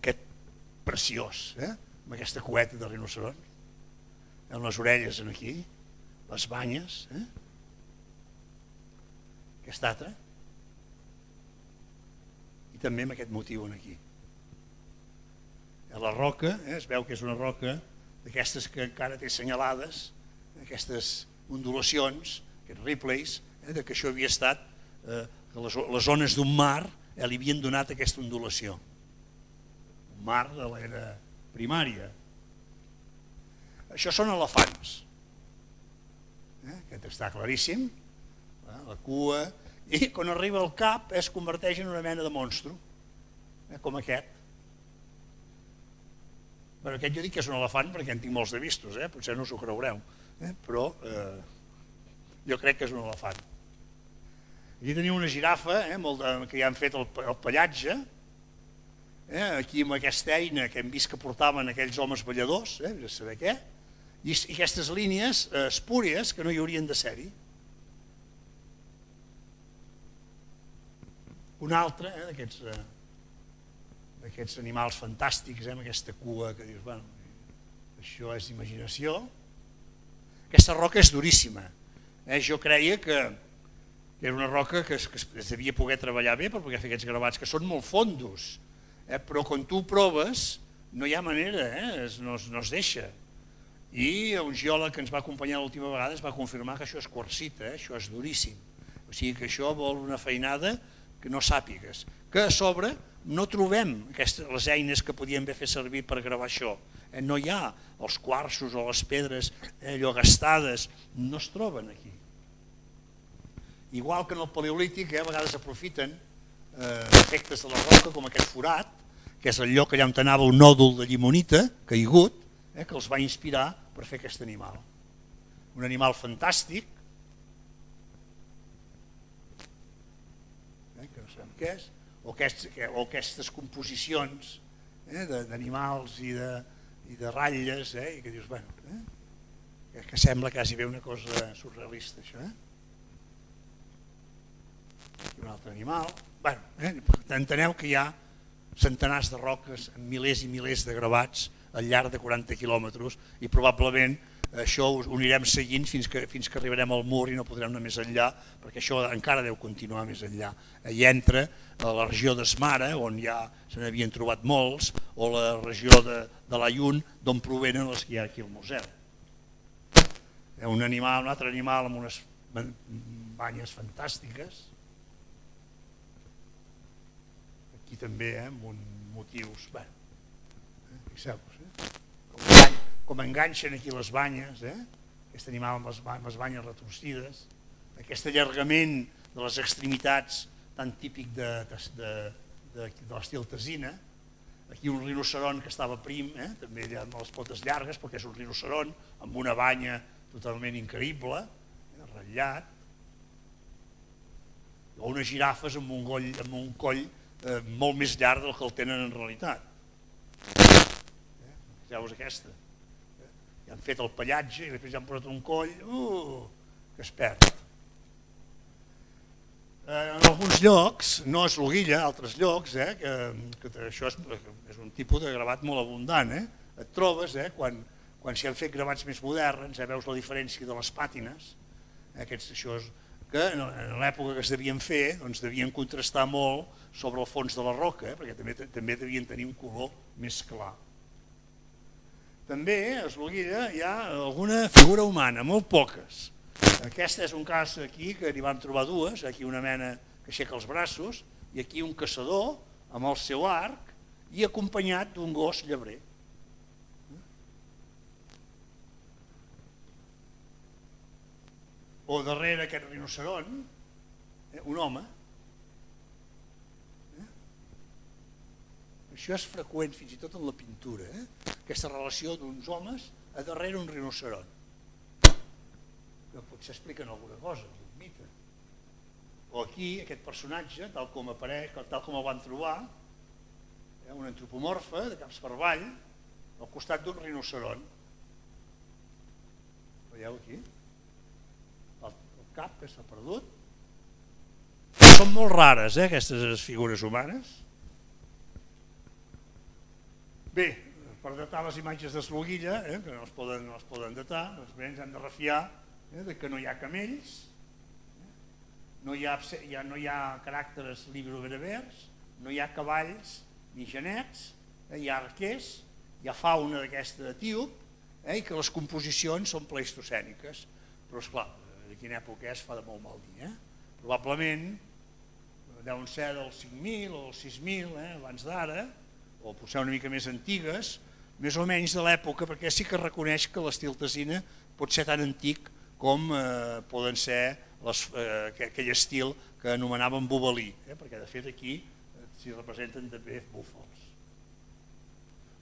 Aquest preciós, eh? Amb aquesta cueta de rinoceron, amb les orelles aquí, les banyes, eh? Aquest altre, i també amb aquest motiu aquí. La roca, eh, es veu que és una roca d'aquestes que encara té senyalades, aquestes ondulacions, aquests replays, eh, de que això havia estat, eh, que les, les zones d'un mar eh, li havien donat aquesta ondulació. Un mar de l'era primària. Això són elefants. Eh, aquest està claríssim. La cua, i quan arriba al cap es converteix en una mena de monstru, eh, com aquest. Bueno, aquest jo dic que és un elefant perquè en tinc molts de vistos, eh? Potser no us ho creureu, eh? Però eh, jo crec que és un elefant. Aquí teniu una girafa eh, molt de, que ja han fet el, el pallatge, eh? Aquí amb aquesta eina que hem vist que portaven aquells homes balladors, eh? A saber què, i, i aquestes línies eh, espúries que no hi haurien de ser-hi. Un altre eh, d'aquests eh, animals fantàstics, eh, amb aquesta cua que dius, bueno, això és imaginació. Aquesta roca és duríssima. Eh, jo creia que, que era una roca que es, que es devia poder treballar bé per poder fer aquests gravats, que són molt fondos, eh, però quan tu ho proves no hi ha manera, eh, es, no, no es deixa. I un geòleg que ens va acompanyar l'última vegada es va confirmar que això és quarsita, eh, això és duríssim. O sigui que això vol una feinada que no sàpigues, que a sobre no trobem aquestes, les eines que podíem fer servir per gravar això. Eh, no hi ha els quarsos o les pedres eh, allò gastades, no es troben aquí. Igual que en el paleolític, eh, a vegades aprofiten eh, efectes de la roca, com aquest forat, que és el lloc allà on anava un nòdul de llimonita caigut, eh, que els va inspirar per fer aquest animal. Un animal fantàstic, que és, o, aquests, o aquestes composicions eh, d'animals i, de, i de ratlles, eh, i que dius, bueno, eh, que sembla quasi bé una cosa surrealista, això. Eh? I un altre. altre animal. Bé, eh, enteneu que hi ha centenars de roques amb milers i milers de gravats al llarg de quaranta quilòmetres i probablement això ho anirem seguint fins que, fins que arribarem al mur i no podrem anar més enllà, perquè això encara deu continuar més enllà. Hi entra a la regió d'Esmara, on ja se n'havien trobat molts, o la regió de, de l'Ayun, d'on provenen els que hi ha aquí al museu. Un animal, un altre animal amb unes banyes fantàstiques. Aquí també, eh, amb uns motius, bé, eh, fixeu-vos, eh? Com, com enganxen aquí les banyes, eh? Aquest animal amb les, amb les banyes retorcides, aquest allargament de les extremitats tan típic de, de, de, de, de l'estil tesina. Aquí un rinoceron que estava prim, eh? També amb les potes llargues, perquè és un rinoceron amb una banya totalment increïble, eh? Ratllat, o unes girafes amb un coll, amb un coll eh, molt més llarg del que el tenen en realitat. Eh? Fixeu-vos aquesta. Eh? Ja han fet el pallatge i després ja han posat un coll uh, que es perd. Eh, en alguns llocs, no és l'Oguilla, altres llocs, eh, que, que això és, és un tipus de gravat molt abundant. Eh? Et trobes, eh, quan, quan s'hi han fet gravats més moderns, eh, veus la diferència de les pàtines, eh, aquests, això és, que en l'època que es devien fer doncs devien contrastar molt sobre el fons de la roca, eh, perquè també, també devien tenir un color més clar. També a l'Oguilla hi ha alguna figura humana, molt poques. Aquest és un cas aquí que n'hi van trobar dues, aquí una mena que aixeca els braços i aquí un caçador amb el seu arc i acompanyat d'un gos llebrer. O darrere aquest rinoceron, eh, un home. Eh? Això és freqüent fins i tot en la pintura, eh? Aquesta relació d'uns homes a darrere un rinoceron. Que potser expliquen alguna cosa, un mite. O aquí aquest personatge, tal com apareix, tal com el van trobar, eh, un antropomorfe de caps per avall, al costat d'un rinoceron. Veieu aquí? Cap que s'ha perdut. Són molt rares, eh, aquestes figures humanes. Bé, per datar les imatges de l'Oguilla, eh, que no es poden, no es poden datar, doncs bé, ens hem de refiar eh, de que no hi ha camells, eh, no, hi ha, ja no hi ha caràcters libro-berbers, no hi ha cavalls ni genets, eh, hi ha arquers, hi ha fauna d'aquesta etíop, eh, i que les composicions són pleistocèniques. Però, esclar, de quina època és fa de molt mal dir. Eh? Probablement deuen ser del cinc mil o del sis mil, eh, abans d'ara, o potser una mica més antigues, més o menys de l'època, perquè sí que reconeix que l'estil tesina pot ser tan antic com eh, poden ser les, eh, aquell estil que anomenaven bobalí, eh, perquè de fet aquí eh, s'hi representen també búfals.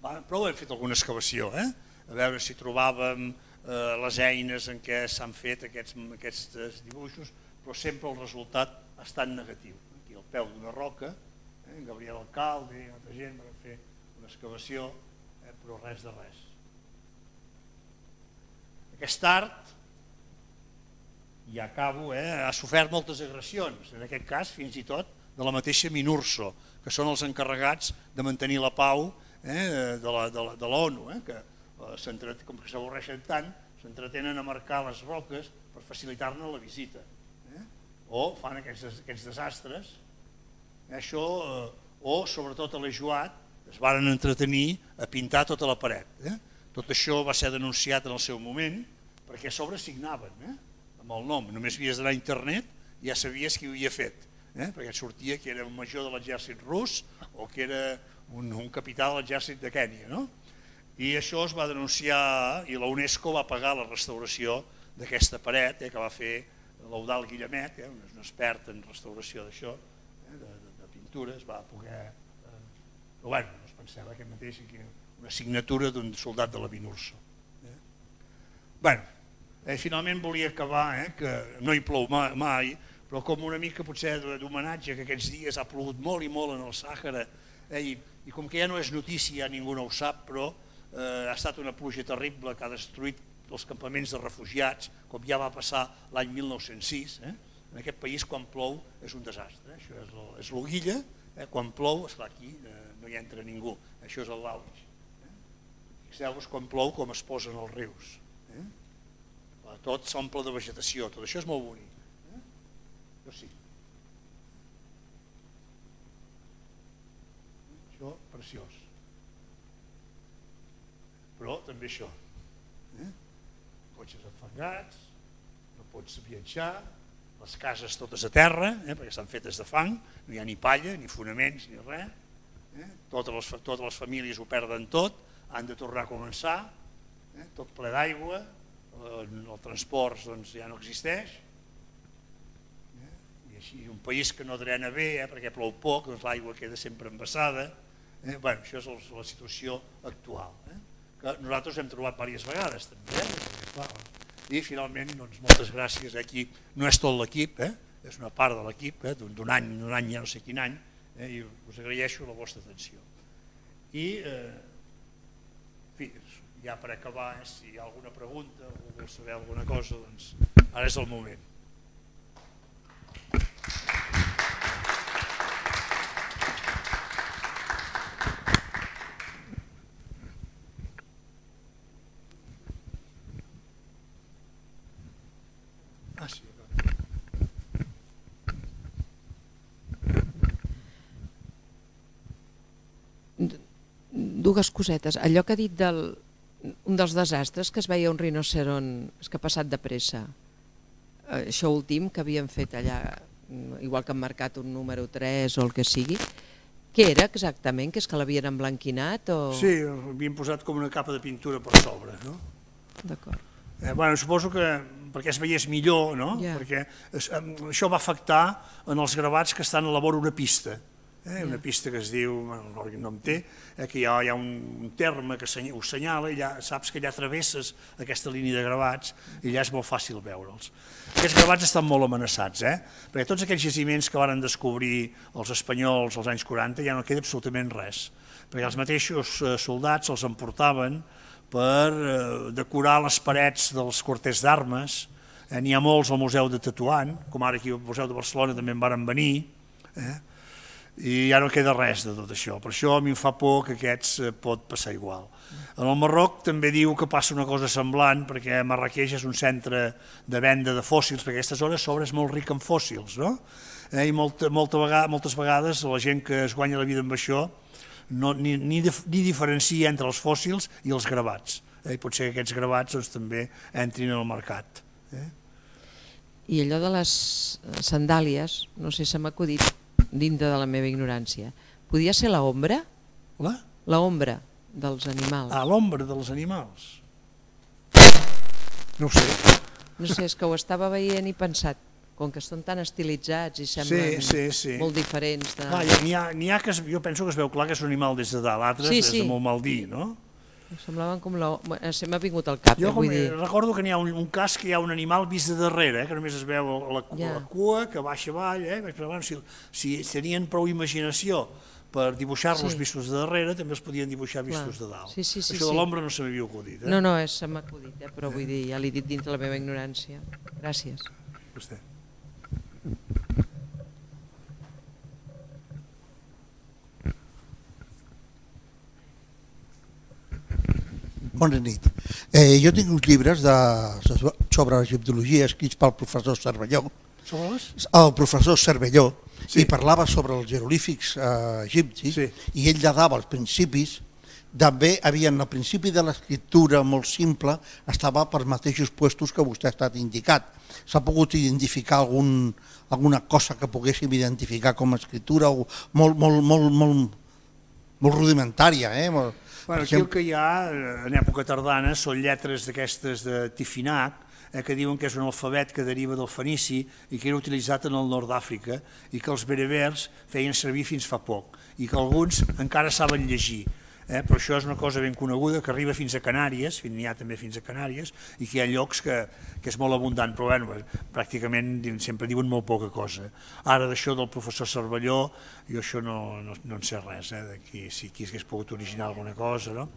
Va, però hem fet alguna excavació, eh? A veure si trobàvem Eh, les eines en què s'han fet aquests, aquests dibuixos, però sempre el resultat ha estat negatiu. Aquí al peu d'una roca, eh, Gabriel Alcalde i altra gent van fer una excavació, eh, però res de res. Aquest art, ja acabo, eh, ha sofert moltes agressions, en aquest cas fins i tot de la mateixa Minurso, que són els encarregats de mantenir la pau eh, de l'ONU, eh, que com que s'avorreixen tant, s'entretenen a marcar les roques per facilitar-ne la visita. Eh? O fan aquests, aquests desastres. Eh? Això, eh, o sobretot a l'Ejuat, es van entretenir a pintar tota la paret. Eh? Tot això va ser denunciat en el seu moment, perquè a sobre signaven eh? amb el nom. Només havies d'anar a internet i ja sabies qui ho havia fet. Eh? Perquè et sortia que era un major de l'exèrcit rus o que era un, un capità de l'exèrcit de Kènia, no? I això es va denunciar i la UNESCO va pagar la restauració d'aquesta paret eh, que va fer l'Eudald Guillemet, eh, un expert en restauració d'això, eh, de, de, de pintura, es va poder... Eh, però bueno, no es pensava aquest mateix que una signatura d'un soldat de la Minurso. Eh. Bueno, eh, finalment volia acabar, eh, que no hi plou mai, mai, però com una mica potser d'homenatge que aquests dies ha plogut molt i molt en el Sàhara, eh, i, i com que ja no és notícia, ningú no ho sap, però Eh, ha estat una pluja terrible que ha destruït els campaments de refugiats, com ja va passar l'any mil nou-cents sis, eh, En aquest país quan plou és un desastre, això és l'Oguilla, quan plou, esclar, aquí no hi entra ningú, això és el Lauix. Fixeu-vos quan plou com es posen els rius, tot s'omple de vegetació, tot això és molt bonic. Això sí. Això, preciós. Però també això. Cotxes enfangats, no pots viatjar, les cases totes a terra, perquè estan fetes de fang, no hi ha ni palla, ni fonaments, ni res. Totes les famílies ho perden tot, han de tornar a començar, tot ple d'aigua, el transport ja no existeix, i així un país que no drena bé perquè plou poc, l'aigua queda sempre embassada. Això és la situació actual, que nosaltres hem trobat diverses vegades també, i finalment moltes gràcies. Aquí no és tot l'equip, és una part de l'equip d'un any, d'un any ja no sé quin any, i us agraeixo la vostra atenció. I ja per acabar, si hi ha alguna pregunta o vol saber alguna cosa, doncs ara és el moment. Ah, sí, dues cosetes. Allò que ha dit del un dels desastres, que es veia un rinoceront que ha passat de pressa, això últim que havien fet allà, igual que han marcat un número tres o el que sigui, què era exactament? Que és que l'havien emblanquinat? Sí, havien posat com una capa de pintura per sobre. D'acord. Suposo que perquè es veiés millor, perquè això va afectar en els gravats que estan a la vora una pista, una pista que es diu, no em té, que hi ha un terme que ho assenyala i saps que allà travesses aquesta línia de gravats i allà és molt fàcil veure'ls. Aquests gravats estan molt amenaçats, perquè tots aquells jaciments que van descobrir els espanyols als anys quaranta ja no queda absolutament res, perquè els mateixos soldats els emportaven per decorar les parets dels quarters d'armes. N'hi ha molts al Museu de Tetuan, com ara aquí al Museu de Barcelona també en varen venir, i ja no queda res de tot això. Per això a mi em fa por que aquests pot passar igual. En el Marroc també diu que passa una cosa semblant, perquè Marrakeix és un centre de venda de fòssils, perquè aquesta zona a sobre és molt rica en fòssils, i moltes vegades la gent que es guanya la vida amb això ni diferencia entre els fòssils i els gravats. Pot ser que aquests gravats també entrin al mercat. I allò de les sandàlies, no sé, se m'ha acudit dintre de la meva ignorància. Podia ser l'ombra? La? L'ombra dels animals. Ah, l'ombra dels animals? No ho sé. No sé, és que ho estava veient i pensat, com que són tan estilitzats i semblen molt diferents. N'hi ha que jo penso que es veu clar que és un animal des de dalt, altres des de molt mal dir, no? Semblaven com l'ombra, se m'ha vingut al cap. Jo recordo que n'hi ha un cas que hi ha un animal vist de darrere, que només es veu la cua que baixa avall, però si tenien prou imaginació per dibuixar-los vistos de darrere, també els podien dibuixar vistos de dalt. Això de l'ombra no se m'havia acudit. No, no, se m'ha acudit, però vull dir, ja l'he dit dins de la meva ignorància. Gràcies. Vostè. Bona nit. Jo tinc uns llibres sobre egiptologia escrits pel professor Cervelló. Sobre les? El professor Cervelló, i parlava sobre els jeroglífics egipcis, i ell ja dava els principis. També havia el principi de l'escriptura molt simple, estava per mateixos puestos que vostè ha estat indicat. S'ha pogut identificar alguna cosa que poguéssim identificar com a escriptura molt rudimentària, eh? Aquí el que hi ha en època tardana són lletres d'aquestes de Tifinagh, que diuen que és un alfabet que deriva del fenici i que era utilitzat en el nord d'Àfrica i que els berbers feien servir fins fa poc i que alguns encara saben llegir. Però això és una cosa ben coneguda que arriba fins a Canàries, n'hi ha també fins a Canàries, i que hi ha llocs que és molt abundant, però pràcticament sempre diuen molt poca cosa. Ara d'això del professor Cervelló, jo això no en sé res, si aquí hagués pogut originar alguna cosa,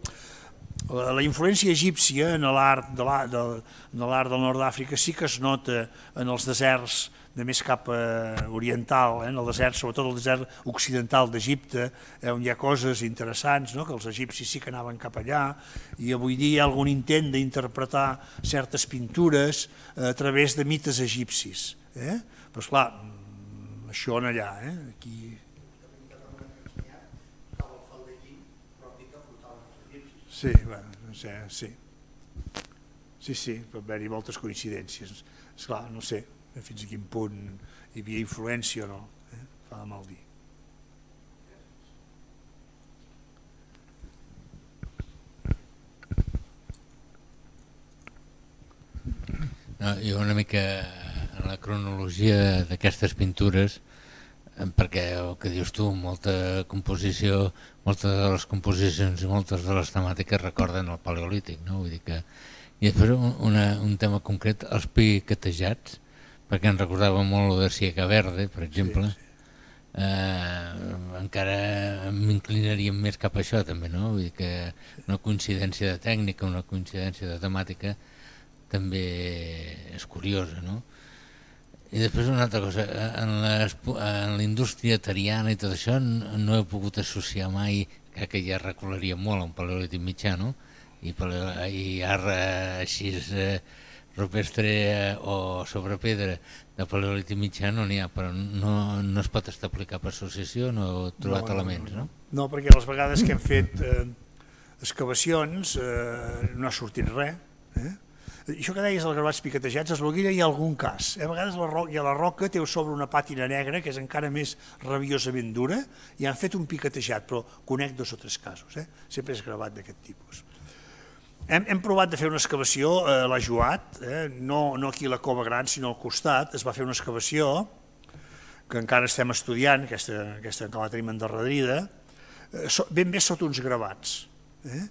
la influència egípcia en l'art de l'art del nord d'Àfrica sí que es nota en els deserts de més cap oriental, en el desert, sobretot el desert occidental d'Egipte, on hi ha coses interessants, que els egipcis sí que anaven cap allà, i avui dia hi ha algun intent d'interpretar certes pintures a través de mites egipcis. Però esclar, això en allà, aquí... Sí, bueno, no sé, sí. Sí, sí, pot haver-hi moltes coincidències. Esclar, no sé fins a quin punt hi havia influència o no, fa de mal dir. No, jo una mica en la cronologia d'aquestes pintures, perquè el que dius tu, molta composició, moltes de les composicions i moltes de les temàtiques recorden el paleolític, no? Vull dir que... I després una, un tema concret, els piquetejats, perquè em recordava molt de Siega Verde, per exemple, sí, sí. Eh, encara m'inclinaríem més cap a això també, no? Vull dir que una coincidència de tècnica, una coincidència de temàtica també és curiosa, no? I després una altra cosa, en la indústria tariana i tot això no he pogut associar mai, crec que ja recularia molt a un paleolític mitjà, no? I, i art així rupestre o sobre pedra de paleolític mitjà no n'hi ha, però no, no es pot establir cap associació, no he trobat no, elements, no? No, no, perquè les vegades que hem fet eh, excavacions eh, no ha sortit res, eh? Això que deies dels gravats piquetejats, a l'Alguira hi ha algun cas. A vegades la roca, la roca té sobre una pàtina negra que és encara més rabiosament dura i han fet un piquetejat, però conec dos o tres casos, eh? Sempre és gravat d'aquest tipus. Hem, hem provat de fer una excavació a la Joat, eh? no, no aquí a la Cova Gran, sinó al costat. Es va fer una excavació que encara estem estudiant, aquesta, aquesta que la tenim endarrerida, eh, so, ben bé sota uns gravats. Eh?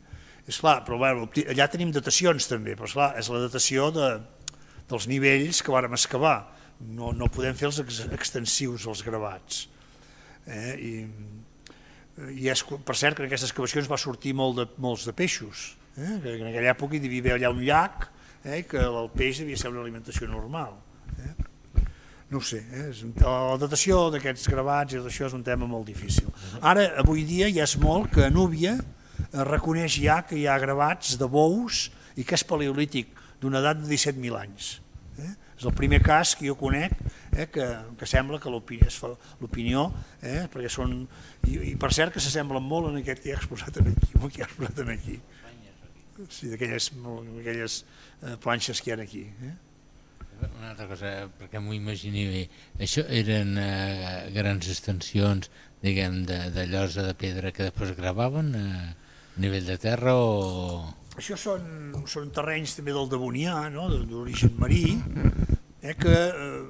És clar, però bueno, allà tenim datacions també, però esclar, és la datació de, dels nivells que vàrem excavar. No, no podem fer els ex, extensius als gravats. Eh? I, i és, per cert, que en aquestes excavacions va sortir molt de, molts de peixos. Eh? Que en aquella època hi devia haver allà un llac, eh? Que el peix devia ser una alimentació normal. Eh? No ho sé, eh? La datació d'aquests gravats i això és un tema molt difícil. Ara, avui dia, ja és molt que a Núbia reconeix ja que hi ha gravats de bous i que és paleolític d'una edat de disset mil anys. Eh? És el primer cas que jo conec eh, que, que sembla que l'opinió, eh, perquè són, i, i per cert que s'assemblen molt en aquest que hi ha exposat aquí, el que hi ha exposat aquí. Sí, d'aquelles eh, planxes que hi ha aquí. Eh? Una altra cosa, perquè m'ho imagini bé, això eren eh, grans extensions, diguem, de, de llosa de pedra que després gravaven a nivell de terra o... Això són, són terrenys també del Devonià, no? D'origen marí, eh, que,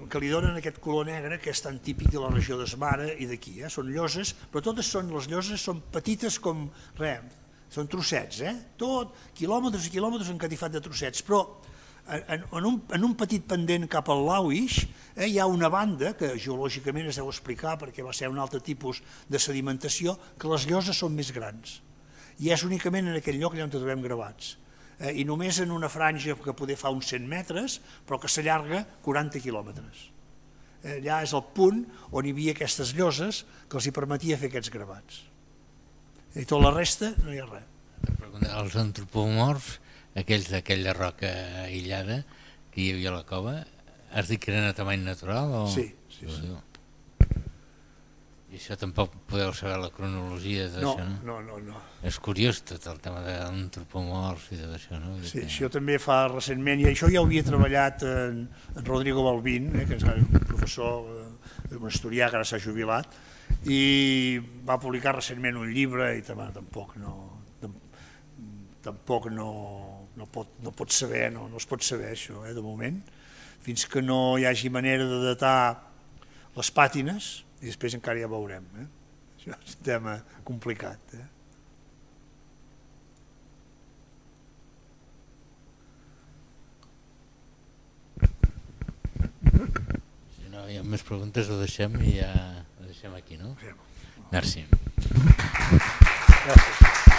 que li donen aquest color negre que és tan típic de la regió d'Esmara i d'aquí. Eh? Són lloses, però totes són, les lloses són petites com res, són trossets, eh? Tot, quilòmetres i quilòmetres encatifat de trossets, però en, en, un, en un petit pendent cap al Lauix eh, hi ha una banda que geològicament es deu explicar perquè va ser un altre tipus de sedimentació, que les lloses són més grans. I és únicament en aquell lloc allà on trobem gravats. Eh, I només en una franja que poder fa uns cent metres, però que s'allarga quaranta quilòmetres. Eh, allà és el punt on hi havia aquestes lloses que els hi permetia fer aquests gravats. I tota la resta no hi ha res. Els antropomorfs, aquells d'aquella roca aïllada que hi havia a la cova, has dit que eren a tamany natural? O... Sí, sí, sí. I això tampoc podeu saber la cronologia d'això, no? No, no, no. És curiós tot el tema de l'antropomorf i tot això, no? Sí, això també fa recentment, i això ja ho havia treballat en, en Rodrigo Balbín, eh, que és un professor, eh, un historià que ara s'ha jubilat, i va publicar recentment un llibre i tampoc no, tampoc no, no, pot, no pot saber, no, no es pot saber això, eh, de moment, fins que no hi hagi manera de datar les pàtines, i després encara ja veurem. Eh? Això és un tema complicat. Eh? Si no hi ha més preguntes ho deixem i ja ho deixem aquí, no? Sí. Merci. Gràcies.